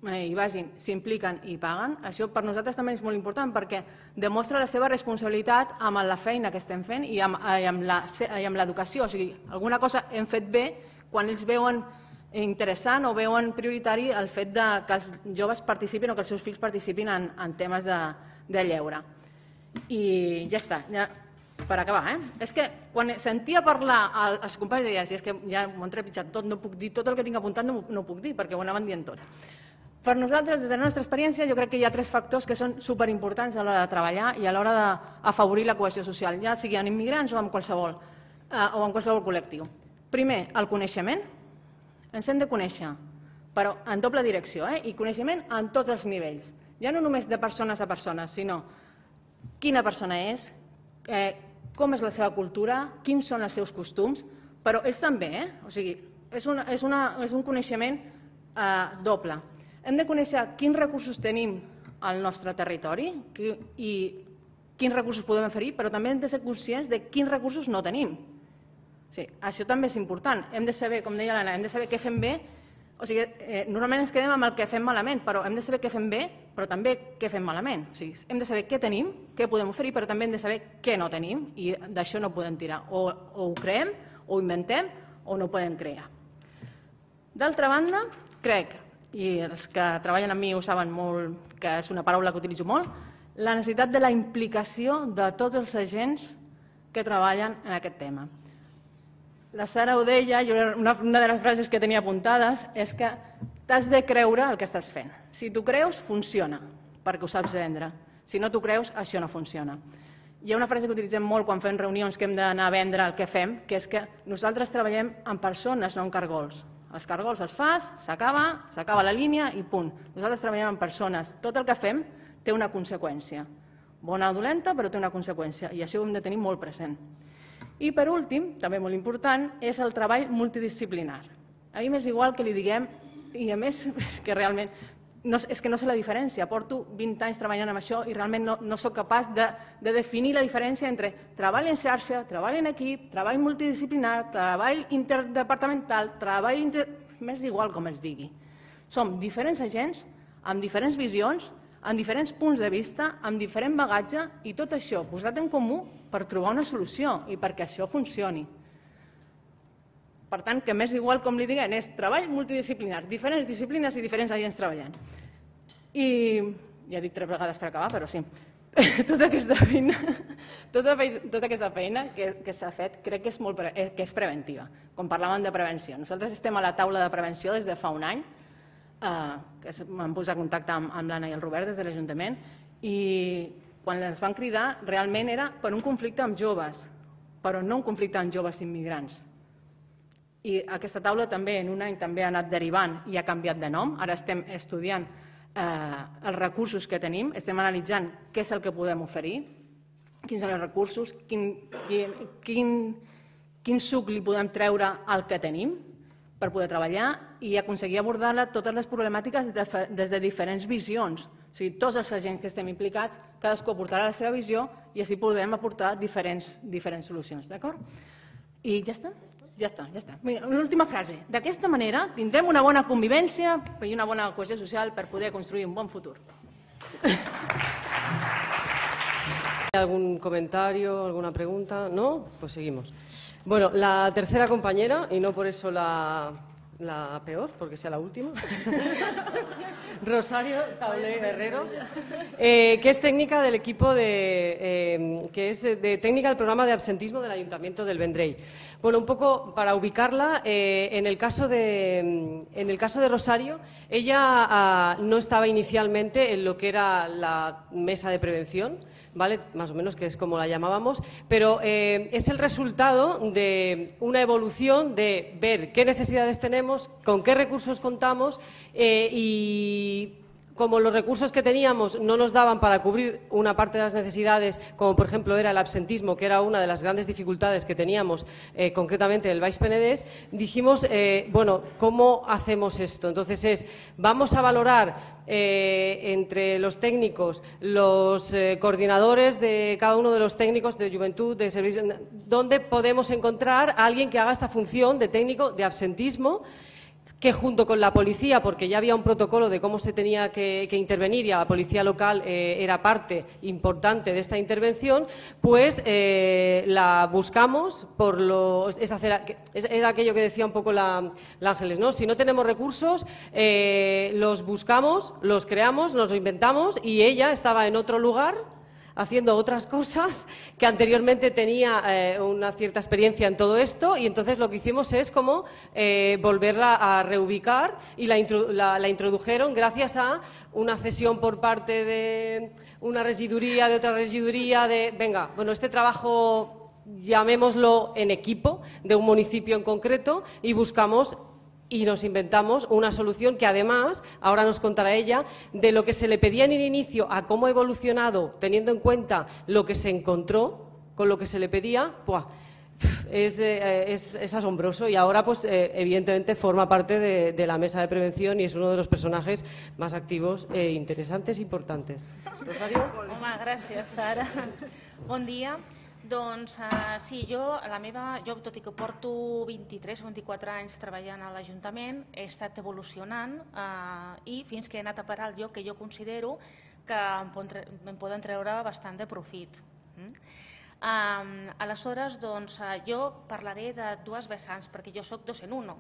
hi vagin, s'impliquen i paguen. Això per nosaltres també és molt important perquè demostra la seva responsabilitat amb la feina que estem fent i amb l'educació. O sigui, alguna cosa hem fet bé quan ells veuen interessant o veuen prioritari el fet que els joves participin o que els seus fills participin en temes de lleure. I ja està, per acabar. És que quan sentia parlar els companys deia, és que ja m'ho han trepitjat tot, no puc dir tot el que tinc apuntat, no ho puc dir perquè ho anaven dient tot. Per nosaltres, des de la nostra experiència, jo crec que hi ha 3 factors que són superimportants a l'hora de treballar i a l'hora d'afavorir la cohesió social, ja sigui en immigrants o en qualsevol col·lectiu. Primer, el coneixement. Ens hem de conèixer, però en doble direcció, i coneixement en tots els nivells. Ja no només de persones a persones, sinó quina persona és, com és la seva cultura, quins són els seus costums, però ells també, o sigui, és un coneixement doble. Hem de conèixer quins recursos tenim al nostre territori i quins recursos podem oferir, però també hem de ser conscients de quins recursos no tenim. Sí, això també és important. Hem de saber, com deia l'Anna, hem de saber què fem bé. O sigui, normalment ens quedem amb el que fem malament, però hem de saber què fem bé, però també què fem malament. O sigui, hem de saber què tenim, què podem oferir, però també hem de saber què no tenim i d'això no podem tirar. O ho creem, o ho inventem, o no ho podem crear. D'altra banda, crec, i els que treballen amb mi ho saben molt, que és una paraula que utilitzo molt, la necessitat de la implicació de tots els agents que treballen en aquest tema. La Sara ho deia, una de les frases que tenia apuntades és que t'has de creure el que estàs fent. Si t'ho creus, funciona, perquè ho saps vendre. Si no t'ho creus, això no funciona. Hi ha una frase que utilitzem molt quan fem reunions que hem d'anar a vendre el que fem, que és que nosaltres treballem amb persones, no amb cargols. Els cargols els fas, s'acaba la línia i punt. Nosaltres treballem amb persones. Tot el que fem té una conseqüència. Bona o dolenta, però té una conseqüència, i això ho hem de tenir molt present. I per últim, també molt important, és el treball multidisciplinar. A mi m'és igual que li diguem, i a més és que realment és que no sé la diferència, porto 20 anys treballant amb això i realment no soc capaç de definir la diferència entre treball en xarxa, treball en equip, treball multidisciplinar, treball interdepartamental, m'és igual com es digui. Som diferents agents, amb diferents visions, amb diferents punts de vista, amb diferent bagatge i tot això posat en comú per trobar una solució i perquè això funcioni. Per tant, que m'és igual com li diguem, és treball multidisciplinar, diferents disciplines i diferents agents treballant. I ja dic 3 vegades per acabar, però sí. tota aquesta feina que s'ha fet crec que és preventiva, com parlàvem de prevenció. Nosaltres estem a la taula de prevenció des de fa un any, que m'han posat en contacte amb l'Anna i el Robert des de l'Ajuntament, i quan ens van cridar realment era per un conflicte amb joves, però no un conflicte amb joves immigrants. I aquesta taula també en un any també ha anat derivant i ha canviat de nom. Ara estem estudiant els recursos que tenim, estem analitzant què és el que podem oferir, quins són els recursos, quin suc li podem treure al que tenim per poder treballar i aconseguir abordar totes les problemàtiques des de diferents visions. O sigui, tots els agents que estem implicats, cadascú aportarà la seva visió i així podem aportar diferents solucions. D'acord? I ja està? Ja està. L'última frase. D'aquesta manera tindrem una bona convivència i una bona cohesió social per poder construir un bon futur. ¿Algún comentario, alguna pregunta? ¿No? Pues seguimos. Bueno, la tercera compañera, y no por eso la peor, porque sea la última, Rosario Taulé Herreros, que es técnica del equipo que es de técnica del programa de absentismo del Ayuntamiento del Vendrell. Bueno, un poco para ubicarla, en el caso de Rosario, ella no estaba inicialmente en lo que era la mesa de prevención, ¿vale? Más o menos, que es como la llamábamos, pero es el resultado de una evolución de ver qué necesidades tenemos, con qué recursos contamos y como los recursos que teníamos no nos daban para cubrir una parte de las necesidades, como por ejemplo era el absentismo, que era una de las grandes dificultades que teníamos concretamente en el Baix Penedès, dijimos, bueno, ¿cómo hacemos esto? Entonces vamos a valorar entre los técnicos, los coordinadores de cada uno de los técnicos de juventud, de servicios, dónde podemos encontrar a alguien que haga esta función de técnico de absentismo, que junto con la policía, porque ya había un protocolo de cómo se tenía que intervenir y a la policía local era parte importante de esta intervención, pues la buscamos era aquello que decía un poco la Ángeles, ¿no? Si no tenemos recursos, los buscamos, los creamos, nos lo inventamos y ella estaba en otro lugar haciendo otras cosas, que anteriormente tenía una cierta experiencia en todo esto, y entonces lo que hicimos es como volverla a reubicar y la introdujeron gracias a una cesión por parte de una regiduría, de otra regiduría, venga, bueno, este trabajo llamémoslo en equipo de un municipio en concreto y buscamos y nos inventamos una solución que además, ahora nos contará ella, de lo que se le pedía en el inicio a cómo ha evolucionado, teniendo en cuenta lo que se encontró con lo que se le pedía, es asombroso y ahora pues evidentemente forma parte de la mesa de prevención y es uno de los personajes más activos e interesantes e importantes. Rosario? Home, gràcies, Sara. Bon dia. Doncs sí, jo, tot i que porto 23 o 24 anys treballant a l'Ajuntament, he estat evolucionant i fins que he anat a parar al lloc que jo considero que em poden treure bastant de profit. Aleshores, doncs, jo parlaré de dues vessants, perquè jo soc docent 1.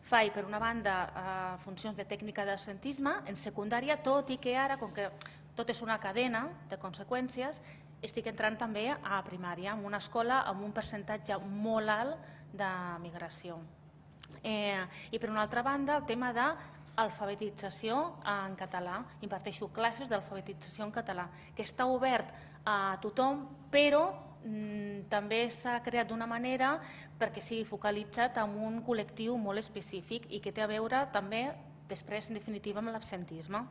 Faig, per una banda, funcions de tècnica d'absentisme en secundària, tot i que ara, com que tot és una cadena de conseqüències, estic entrant també a primària, en una escola amb un percentatge molt alt de migració. I per una altra banda, el tema d'alfabetització en català. Imparteixo classes d'alfabetització en català, que està obert a tothom, però també s'ha creat d'una manera perquè sigui focalitzat en un col·lectiu molt específic i que té a veure també, després, en definitiva, amb l'absentisme.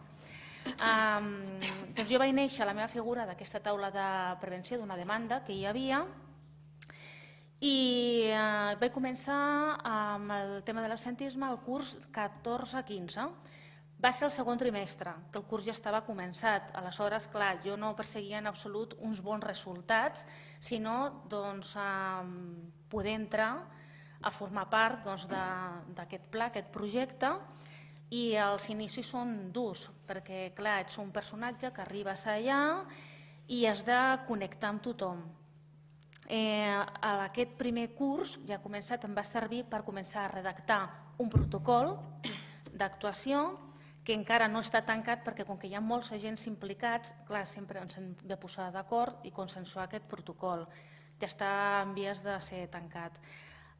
Doncs jo vaig néixer la meva figura d'aquesta taula de prevenció d'una demanda que hi havia i vaig començar amb el tema de l'absentisme el curs 14-15. Va ser el segon trimestre, que el curs ja estava començat. Aleshores, clar, jo no perseguia en absolut uns bons resultats, sinó poder entrar a formar part d'aquest pla, aquest projecte, i els inicis són durs, perquè clar, ets un personatge que arribes allà i has de connectar amb tothom. Aquest primer curs ja començat em va servir per començar a redactar un protocol d'actuació que encara no està tancat perquè com que hi ha molts agents implicats, clar, sempre ens hem de posar d'acord i consensuar aquest protocol. Ja està en vies de ser tancat.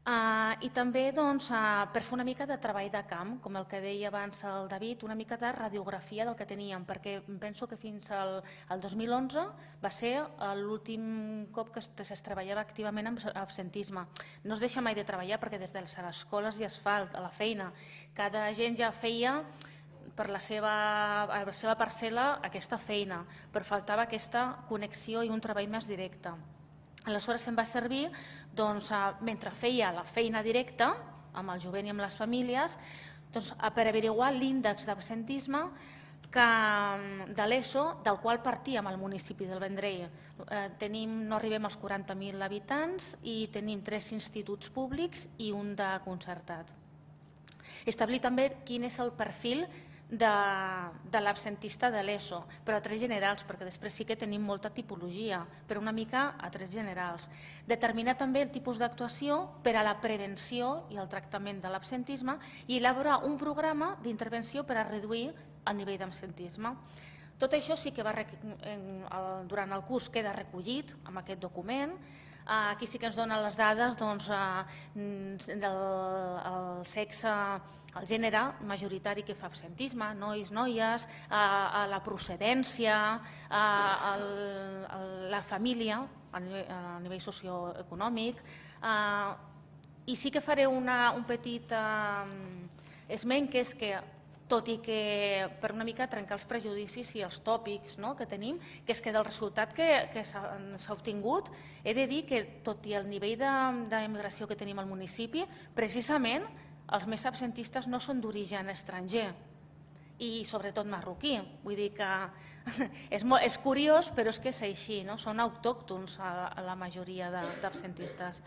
I també per fer una mica de treball de camp, com el que deia abans el David, una mica de radiografia del que teníem, perquè penso que fins al 2011 va ser l'últim cop que es treballava activament amb absentisme. No es deixa mai de treballar perquè des de les escoles ja es fa a la feina. Cada agent ja feia per la seva parcel·la aquesta feina, però faltava aquesta connexió i un treball més directe. Aleshores em va servir, mentre feia la feina directa amb el jovent i amb les famílies, per averiguar l'índex d'absentisme de l'ESO, del qual partíem al municipi del Vendrell. No arribem als 40.000 habitants i tenim 3 instituts públics i un de concertat. Establir també quin és el perfil de l'absentista de l'ESO, però a trets generals, perquè després sí que tenim molta tipologia, però una mica a trets generals. Determinar també el tipus d'actuació per a la prevenció i el tractament de l'absentisme i elaborar un programa d'intervenció per a reduir el nivell d'absentisme. Tot això sí que durant el curs queda recollit amb aquest document. Aquí sí que ens donen les dades del sexe, el gènere majoritari que fa absentisme, nois, noies, la procedència, la família a nivell socioeconòmic. I sí que faré un petit esment, que és que tot i que per una mica trencar els prejudicis i els tòpics que tenim, que és que del resultat que s'ha obtingut, he de dir que tot i el nivell d'immigració que tenim al municipi, precisament els més absentistes no són d'origen estranger i sobretot marroquí. Vull dir que és curiós, però és que és així, són autòctons a la majoria d'absentistes.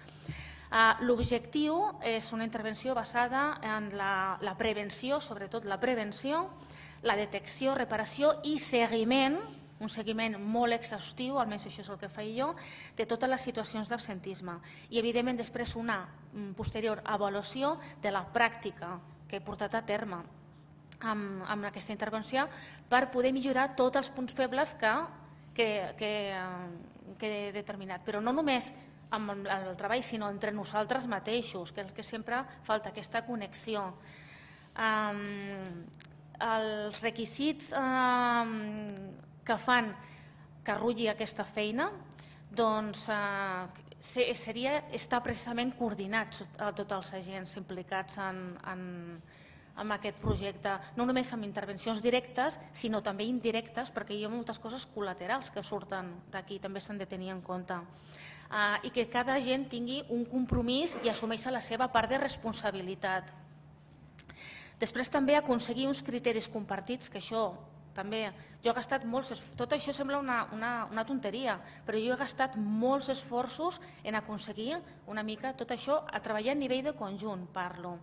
L'objectiu és una intervenció basada en la prevenció, sobretot la prevenció, la detecció, reparació i seguiment, un seguiment molt exhaustiu, almenys això és el que faig jo, de totes les situacions d'absentisme. I evidentment després una posterior avaluació de la pràctica que he portat a terme amb aquesta intervenció per poder millorar tots els punts febles que he determinat. Però no només amb el treball, sinó entre nosaltres mateixos, que és el que sempre falta, aquesta connexió. Els requisits que fan que rulli aquesta feina seria estar precisament coordinats a tots els agents implicats en aquest projecte, no només amb intervencions directes, sinó també indirectes, perquè hi ha moltes coses col·laterals que surten d'aquí, també s'han de tenir en compte. I que cada agent tingui un compromís i assumeixi la seva part de responsabilitat. Després també aconseguir uns criteris compartits, que això també, jo he gastat molts esforços, tot això sembla una tonteria, però jo he gastat molts esforços en aconseguir una mica tot això, a treballar a nivell de conjunt, parlo.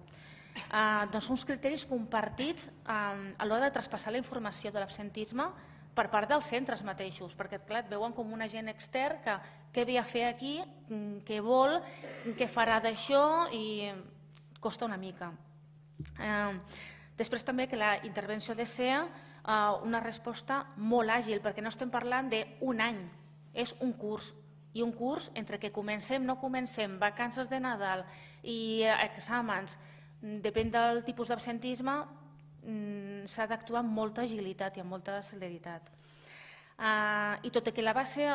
Doncs uns criteris compartits a l'hora de traspassar la informació de l'absentisme per part dels centres mateixos, perquè clar, et veuen com un agent extern que què ve a fer aquí, què vol, què farà d'això, i costa una mica. Després també que la intervenció ha de ser una resposta molt àgil, perquè no estem parlant d'un any, és un curs. I un curs entre que comencem, no comencem, vacances de Nadal i exàmens, depèn del tipus d'absentisme, s'ha d'actuar amb molta agilitat i amb molta celeritat. I tot i que la base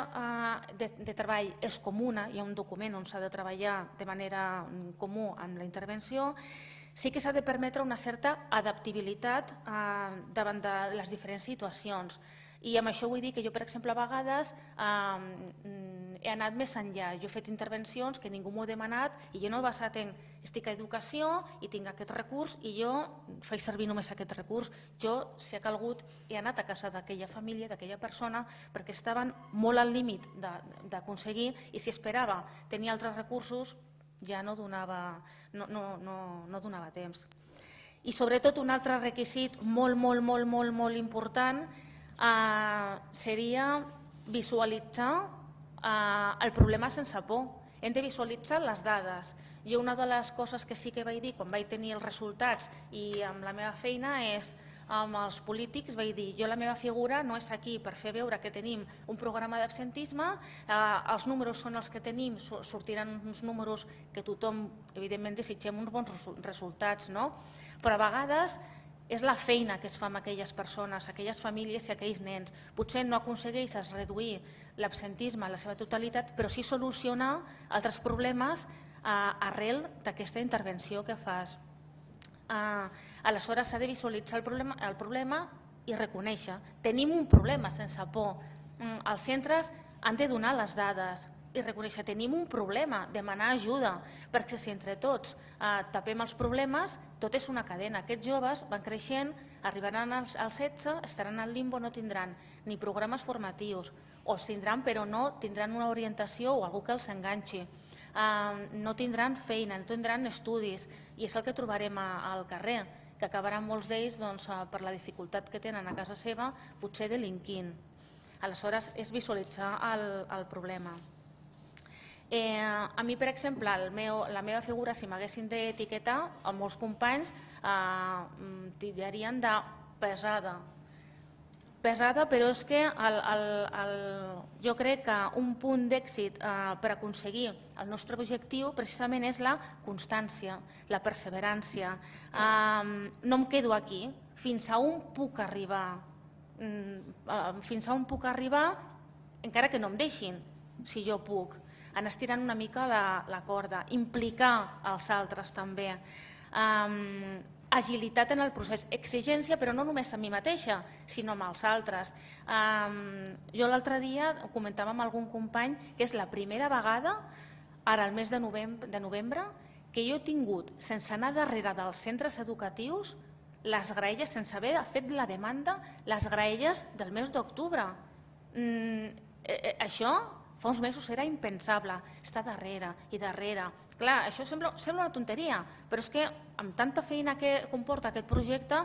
de treball és comuna, hi ha un document on s'ha de treballar de manera comú amb la intervenció, sí que s'ha de permetre una certa adaptabilitat davant de les diferents situacions. I amb això vull dir que jo, per exemple, a vegades he anat més enllà. Jo he fet intervencions que ningú m'ho ha demanat i jo no he basat en estic a educació i tinc aquest recurs i jo faig servir només aquest recurs. Jo, si ha calgut, he anat a casa d'aquella família, d'aquella persona, perquè estaven molt al límit d'aconseguir, i si esperava tenir altres recursos ja no donava temps. I sobretot un altre requisit molt important seria visualitzar el problema sense por. Hem de visualitzar les dades. Jo una de les coses que sí que vaig dir quan vaig tenir els resultats i amb la meva feina és amb els polítics, vaig dir, jo la meva figura no és aquí per fer veure que tenim un programa d'absentisme, els números són els que tenim, sortiran uns números que tothom, evidentment, desitgem uns bons resultats, no? Però a vegades és la feina que es fa amb aquelles persones, aquelles famílies i aquells nens. Potser no aconsegueixes reduir l'absentisme a la seva totalitat, però sí solucionar altres problemes arrel d'aquesta intervenció que fas. Aleshores s'ha de visualitzar el problema i reconèixer. Tenim un problema sense por. Els centres han de donar les dades i reconèixer que tenim un problema, demanar ajuda, perquè si entre tots tapem els problemes, tot és una cadena. Aquests joves van creixent, arribaran als 16, estaran al limbo, no tindran ni programes formatius, o els tindran però no tindran una orientació o algú que els enganxi. No tindran feina, no tindran estudis, i és el que trobarem al carrer, que acabaran molts d'ells per la dificultat que tenen a casa seva, potser delinquint. Aleshores és visualitzar el problema. A mi, per exemple, la meva figura, si m'haguessin d'etiquetar, molts companys titllarien de pesada. Pesada, però és que jo crec que un punt d'èxit per aconseguir el nostre objectiu precisament és la constància, la perseverància. No em quedo aquí, fins a on puc arribar, encara que no em deixin, si jo puc, anar estirant una mica la corda, implicar els altres també. Agilitat en el procés, exigència, però no només a mi mateixa, sinó amb els altres. Jo l'altre dia comentava amb algun company que és la primera vegada, ara al mes de novembre, que jo he tingut, sense anar darrere dels centres educatius, les graelles, sense haver fet la demanda, les graelles del mes d'octubre. Això fa uns mesos era impensable, estar darrere i darrere. Clar, això sembla una tonteria, però és que amb tanta feina que comporta aquest projecte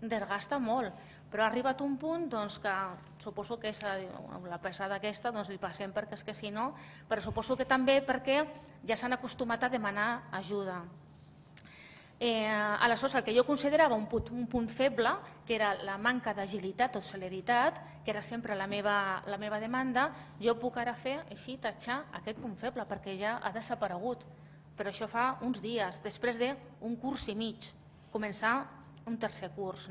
desgasta molt. Però ha arribat un punt que suposo que la pesada aquesta li passem perquè és que si no, però suposo que també perquè ja s'han acostumat a demanar ajuda. Aleshores, el que jo considerava un punt feble, que era la manca d'agilitat o celeritat, que era sempre la meva demanda, jo puc ara fer així, tatxar aquest punt feble, perquè ja ha desaparegut. Però això fa uns dies, després d'un curs i mig, començar un tercer curs.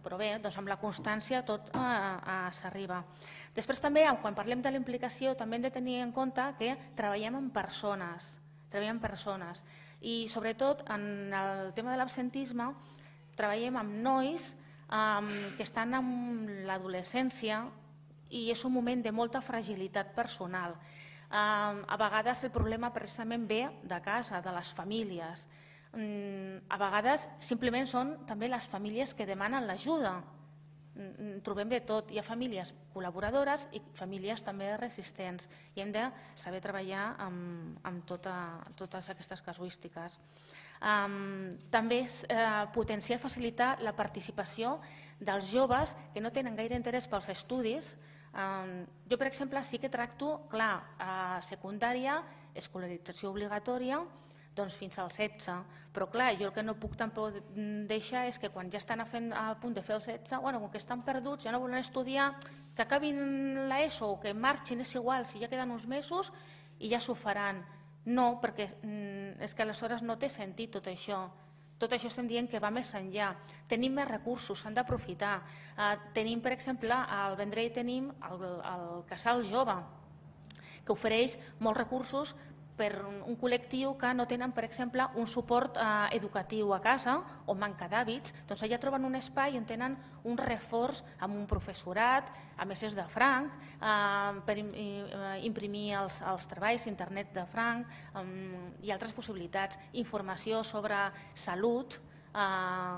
Però bé, amb la constància tot s'arriba. Després també, quan parlem de la implicació, també hem de tenir en compte que treballem amb persones. I sobretot en el tema de l'absentisme treballem amb nois que estan en l'adolescència i és un moment de molta fragilitat personal. A vegades el problema precisament ve de casa, de les famílies. A vegades simplement són també les famílies que demanen l'ajuda. Trobem de tot, hi ha famílies col·laboradores i famílies també resistents i hem de saber treballar amb totes aquestes casuístiques. També és potenciar i facilitar la participació dels joves que no tenen gaire interès pels estudis. Jo, per exemple, sí que tracto, clar, a secundària, escolarització obligatòria, fins als 16, però clar, jo el que no puc tampoc deixar és que quan ja estan a punt de fer els 16, com que estan perduts, ja no volen estudiar, que acabin l'ESO o que marxin, és igual, si ja queden uns mesos i ja s'ho faran. No, perquè és que aleshores no té sentit tot això. Tot això estem dient que va més enllà. Tenim més recursos, s'han d'aprofitar. Tenim, per exemple, al Vendrell tenim el Casal Jove, que ofereix molts recursos per un col·lectiu que no tenen, per exemple, un suport educatiu a casa o manca d'hàbits. Doncs allà troben un espai on tenen un reforç amb un professorat, a mestres de franc, per imprimir els treballs, internet de franc i altres possibilitats. Informació sobre salut,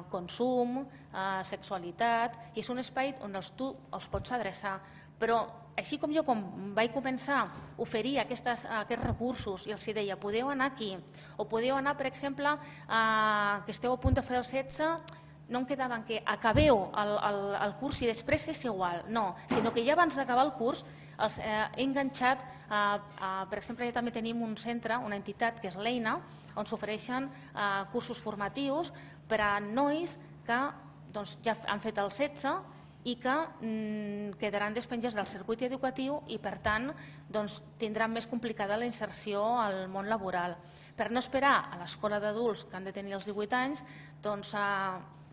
consum, sexualitat, i és un espai on tu els pots adreçar. Però així com jo, quan vaig començar a oferir aquests recursos i els deia, podeu anar aquí, o podeu anar, per exemple, que esteu a punt de fer el 16, no em quedava que acabeu el curs i després és igual, no, sinó que ja abans d'acabar el curs he enganxat, per exemple, ja també tenim un centre, una entitat que és l'Eina, on s'ofereixen cursos formatius per a nois que ja han fet el 16 i que quedaran despenjats del circuit educatiu i per tant tindran més complicada la inserció al món laboral. Per no esperar a l'escola d'adults que han de tenir els 18 anys,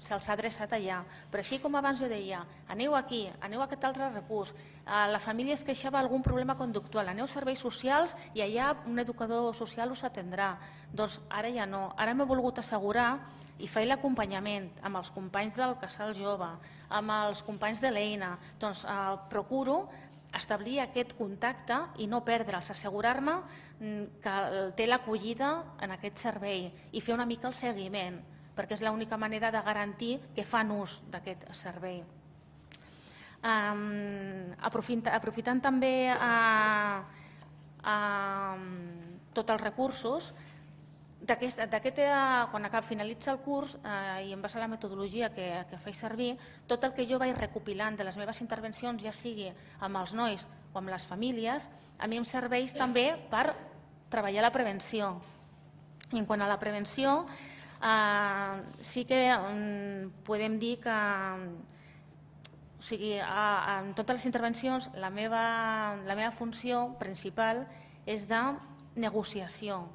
se'ls ha adreçat allà. Però així com abans jo deia, aneu aquí, aneu a aquest altre recurs, la família es queixava d'algun problema conductual, aneu a serveis socials i allà un educador social us atendrà. Doncs ara ja no, ara m'he volgut assegurar i fer l'acompanyament amb els companys del Casal Jove, amb els companys de l'EINA, doncs procuro establir aquest contacte i no perdre'ls, assegurar-me que té l'acollida en aquest servei i fer una mica el seguiment, perquè és l'única manera de garantir que fan ús d'aquest servei. Aprofitant també tots els recursos, quan finalitza el curs i en base a la metodologia que faig servir, tot el que jo vaig recopilant de les meves intervencions, ja sigui amb els nois o amb les famílies, a mi em serveix també per treballar la prevenció. I en quant a la prevenció, sí que podem dir que en totes les intervencions la meva funció principal és de negociació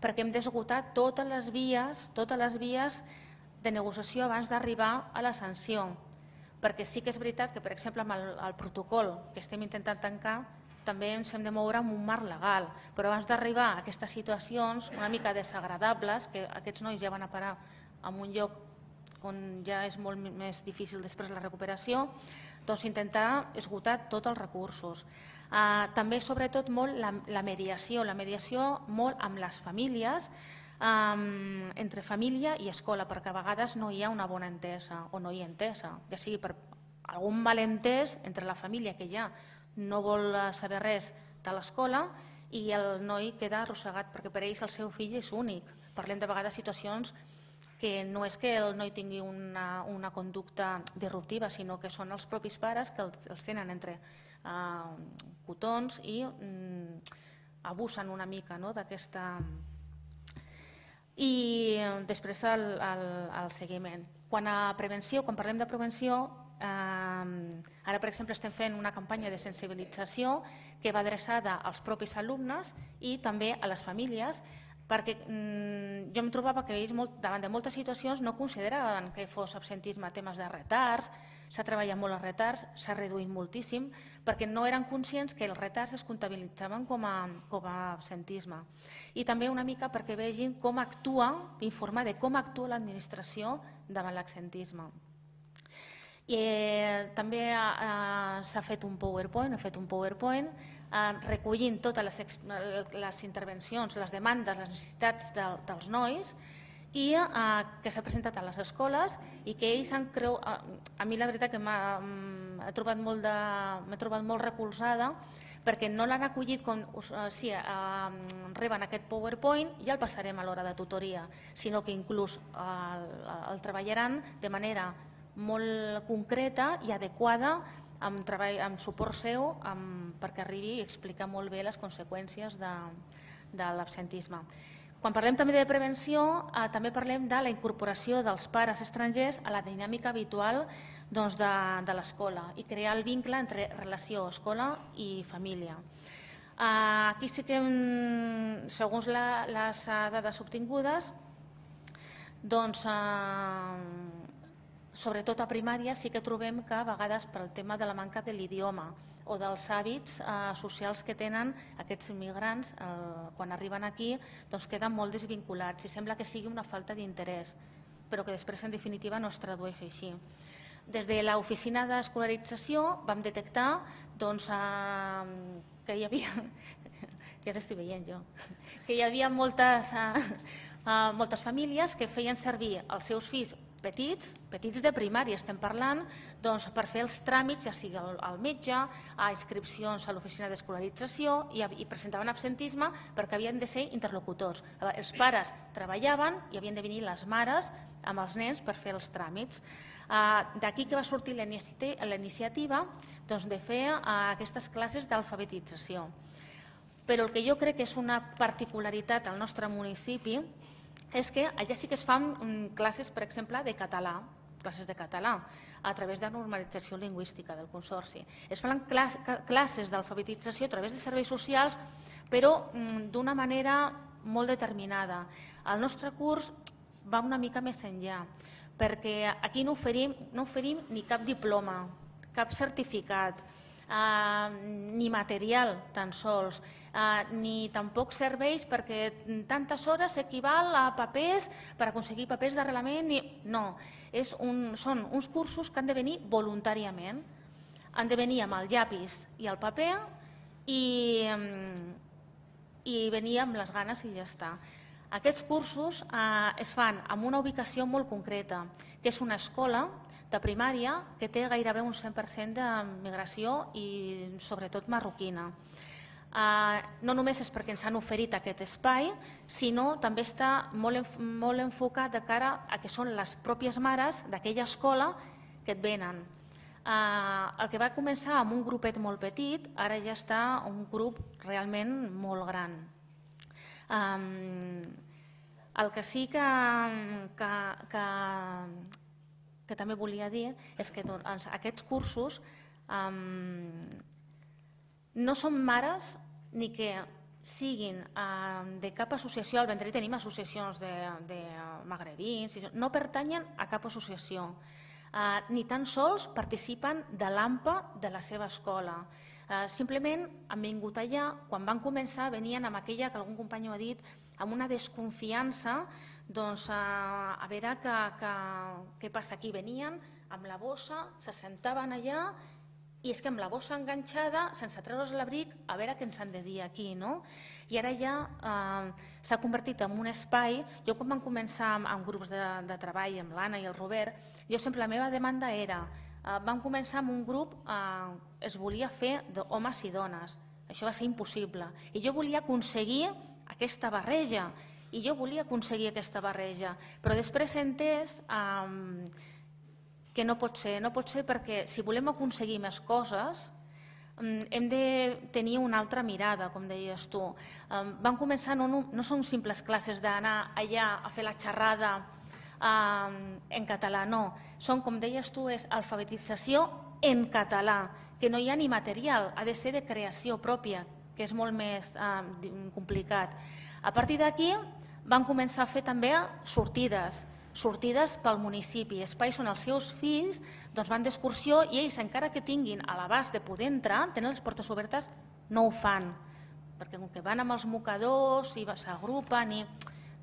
perquè hem d'esgotar totes les vies de negociació abans d'arribar a la sanció, perquè sí que és veritat que, per exemple, amb el protocol que estem intentant tancar també ens hem de moure en un marc legal, però abans d'arribar a aquestes situacions una mica desagradables, que aquests nois ja van a parar en un lloc on ja és molt més difícil després la recuperació, doncs intentar esgotar tots els recursos. També, sobretot, molt la mediació molt amb les famílies, entre família i escola, perquè a vegades no hi ha una bona entesa o no hi ha entesa, ja sigui per algun malentès entre la família que ja no vol saber res de l'escola i el noi queda arrossegat perquè per ells el seu fill és únic. Parlem de vegades de situacions que no és que el noi tingui una conducta disruptiva, sinó que són els propis pares que els tenen entre cotons i abusen una mica d'aquesta... I després el seguiment. Quan parlem de prevenció, ara per exemple estem fent una campanya de sensibilització que va adreçada als propis alumnes i també a les famílies, perquè jo em trobava que ells davant de moltes situacions no consideraven que fos absentisme temes de retards, s'ha treballat molt els retards, s'ha reduït moltíssim, perquè no eren conscients que els retards es comptabilitzaven com a absentisme. I també una mica perquè vegin com actua, informar de com actua l'administració davant l'absentisme. També s'ha fet un PowerPoint, recollint totes les intervencions, les demandes, les necessitats dels nois i que s'ha presentat a les escoles i que ells han creut... A mi la veritat que m'he trobat molt recolzada perquè no l'han acollit com si reben aquest PowerPoint ja el passarem a l'hora de tutoria, sinó que inclús el treballaran de manera molt concreta i adequada amb suport seu perquè arribi i explicar molt bé les conseqüències de l'absentisme. Quan parlem també de prevenció, també parlem de la incorporació dels pares estrangers a la dinàmica habitual de l'escola i crear el vincle entre relació escola i família. Aquí sí que, segons les dades obtingudes, sobretot a primària sí que trobem que a vegades per el tema de la manca de l'idioma o dels hàbits socials que tenen aquests immigrants quan arriben aquí queden molt desvinculats i sembla que sigui una falta d'interès, però que després en definitiva no es tradueix així. Des de l'oficina d'escolarització vam detectar que hi havia, ja l'estic veient jo, que hi havia moltes famílies que feien servir els seus fills petits de primària, estem parlant, per fer els tràmits, ja sigui al metge, a inscripcions a l'oficina d'escolarització i presentaven absentisme perquè havien de ser interlocutors. Els pares treballaven i havien de venir les mares amb els nens per fer els tràmits. D'aquí que va sortir la iniciativa de fer aquestes classes d'alfabetització. Però el que jo crec que és una particularitat al nostre municipi és que allà sí que es fan classes, per exemple, de català, a través de normalització lingüística del Consorci. Es fan classes d'alfabetització a través de serveis socials, però d'una manera molt determinada. El nostre curs va una mica més enllà, perquè aquí no oferim ni cap diploma, cap certificat, ni material tan sols, ni tampoc serveis perquè tantes hores equival a papers per aconseguir papers d'arrelament. No, són uns cursos que han de venir voluntàriament, han de venir amb el llapis i el paper i venir amb les ganes i ja està. Aquests cursos es fan en una ubicació molt concreta, que és una escola de primària que té gairebé un 100% de migració i sobretot marroquina. No només és perquè ens han oferit aquest espai, sinó també està molt enfocat de cara a que són les pròpies mares d'aquella escola que et venen. El que va començar amb un grupet molt petit, ara ja està un grup realment molt gran. El que sí que també volia dir és que aquests cursos no són mares ni que siguin de cap associació. Al Vendrell tenim associacions de magrebins, no pertanyen a cap associació, ni tan sols participen de l'AMPA de la seva escola. Simplement han vingut allà, quan van començar venien amb aquella que algun company ha dit, amb una desconfiança, doncs a veure què passa aquí. Venien amb la bossa, se sentaven allà i és que amb la bossa enganxada, sense treure's l'abric, a veure què ens han de dir aquí, no? I ara ja s'ha convertit en un espai. Jo quan vam començar amb grups de treball, amb l'Anna i el Robert, jo sempre la meva demanda era, vam començar amb un grup, es volia fer d'homes i dones, això va ser impossible, i jo volia aconseguir aquesta barreja, però després he entès que no pot ser perquè si volem aconseguir més coses hem de tenir una altra mirada, com deies tu. Vam començar, no són simples classes d'anar allà a fer la xerrada en català, no. Són, com deies tu, és alfabetització en català, que no hi ha ni material, ha de ser de creació pròpia, que és molt més complicat. A partir d'aquí van començar a fer també sortides pel municipi, espais on els seus fills van d'excursió i ells, encara que tinguin a l'abast de poder entrar, tenen les portes obertes, no ho fan, perquè com que van amb els mocadors i s'agrupen i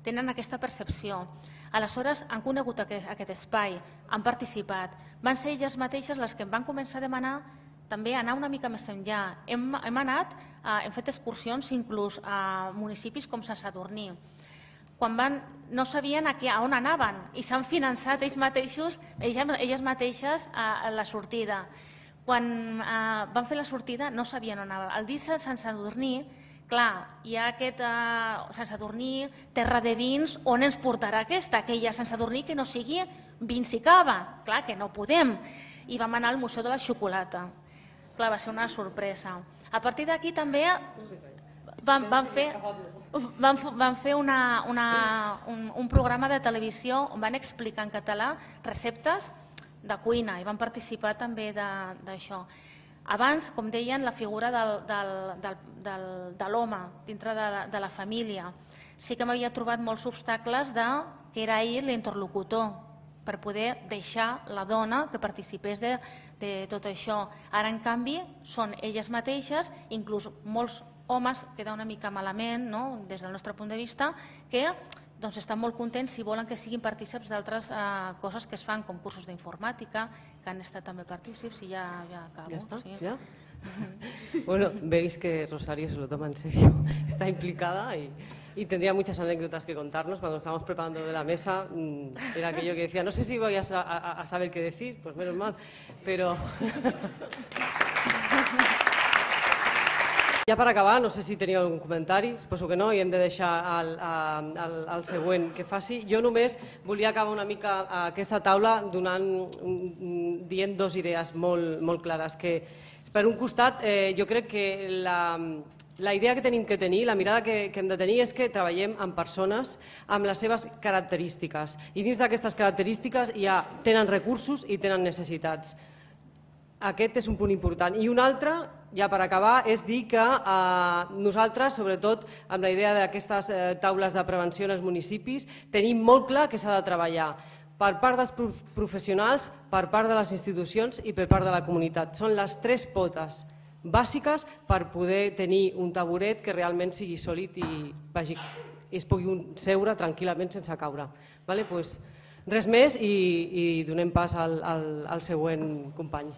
tenen aquesta percepció. Aleshores han conegut aquest espai, han participat, van ser elles mateixes les que em van començar a demanar també anar una mica més enllà. Hem fet excursions inclús a municipis com Sant Sadurní, quan no sabien a on anaven i s'han finançat elles mateixes la sortida. Quan van fer la sortida no sabien on anaven. Al dir Sant Sadurní, clar, hi ha aquest Sant Sadurní, terra de vins, on ens portarà aquesta? Que hi ha Sant Sadurní que no sigui vins i cava. Clar que no podem. I vam anar al Museu de la Xocolata. Clar, va ser una sorpresa. A partir d'aquí també van fer un programa de televisió on van explicar en català receptes de cuina i van participar també d'això. Abans, com deien, la figura de l'home dintre de la família. Sí que m'havia trobat molts obstacles que era ell l'interlocutor per poder deixar la dona que participés de tot això. Ara, en canvi, són elles mateixes, inclús molts homes queda una mica malament, des del nostre punt de vista, que estan molt contents si volen que siguin partícips d'altres coses que es fan, com cursos d'informàtica, que han estat també partícips, i ja acabo. ¿Ya está? ¿Ya? Bueno, veis que Rosario se lo toma en serio, está implicada y tendría muchas anécdotas que contarnos. Cuando estábamos preparando de la mesa, era aquello que decía, no sé si voy a saber qué decir, pues menos mal, pero... Ja per acabar, no sé si teníeu algun comentari, suposo que no, i hem de deixar al següent que faci. Jo només volia acabar una mica aquesta taula dient dues idees molt clares, que Per un costat, jo crec que la idea que tenim que tenir, la mirada que hem de tenir és que treballem amb persones amb les seves característiques i dins d'aquestes característiques ja tenen recursos i tenen necessitats. Aquest és un punt important. I un altre, ja per acabar, és dir que nosaltres, sobretot amb la idea d'aquestes taules de prevenció en els municipis, tenim molt clar que s'ha de treballar per part dels professionals, per part de les institucions i per part de la comunitat. Són les 3 potes bàsiques per poder tenir un taburet que realment sigui sòlid i es pugui seure tranquil·lament sense caure. Res més i donem pas al següent company.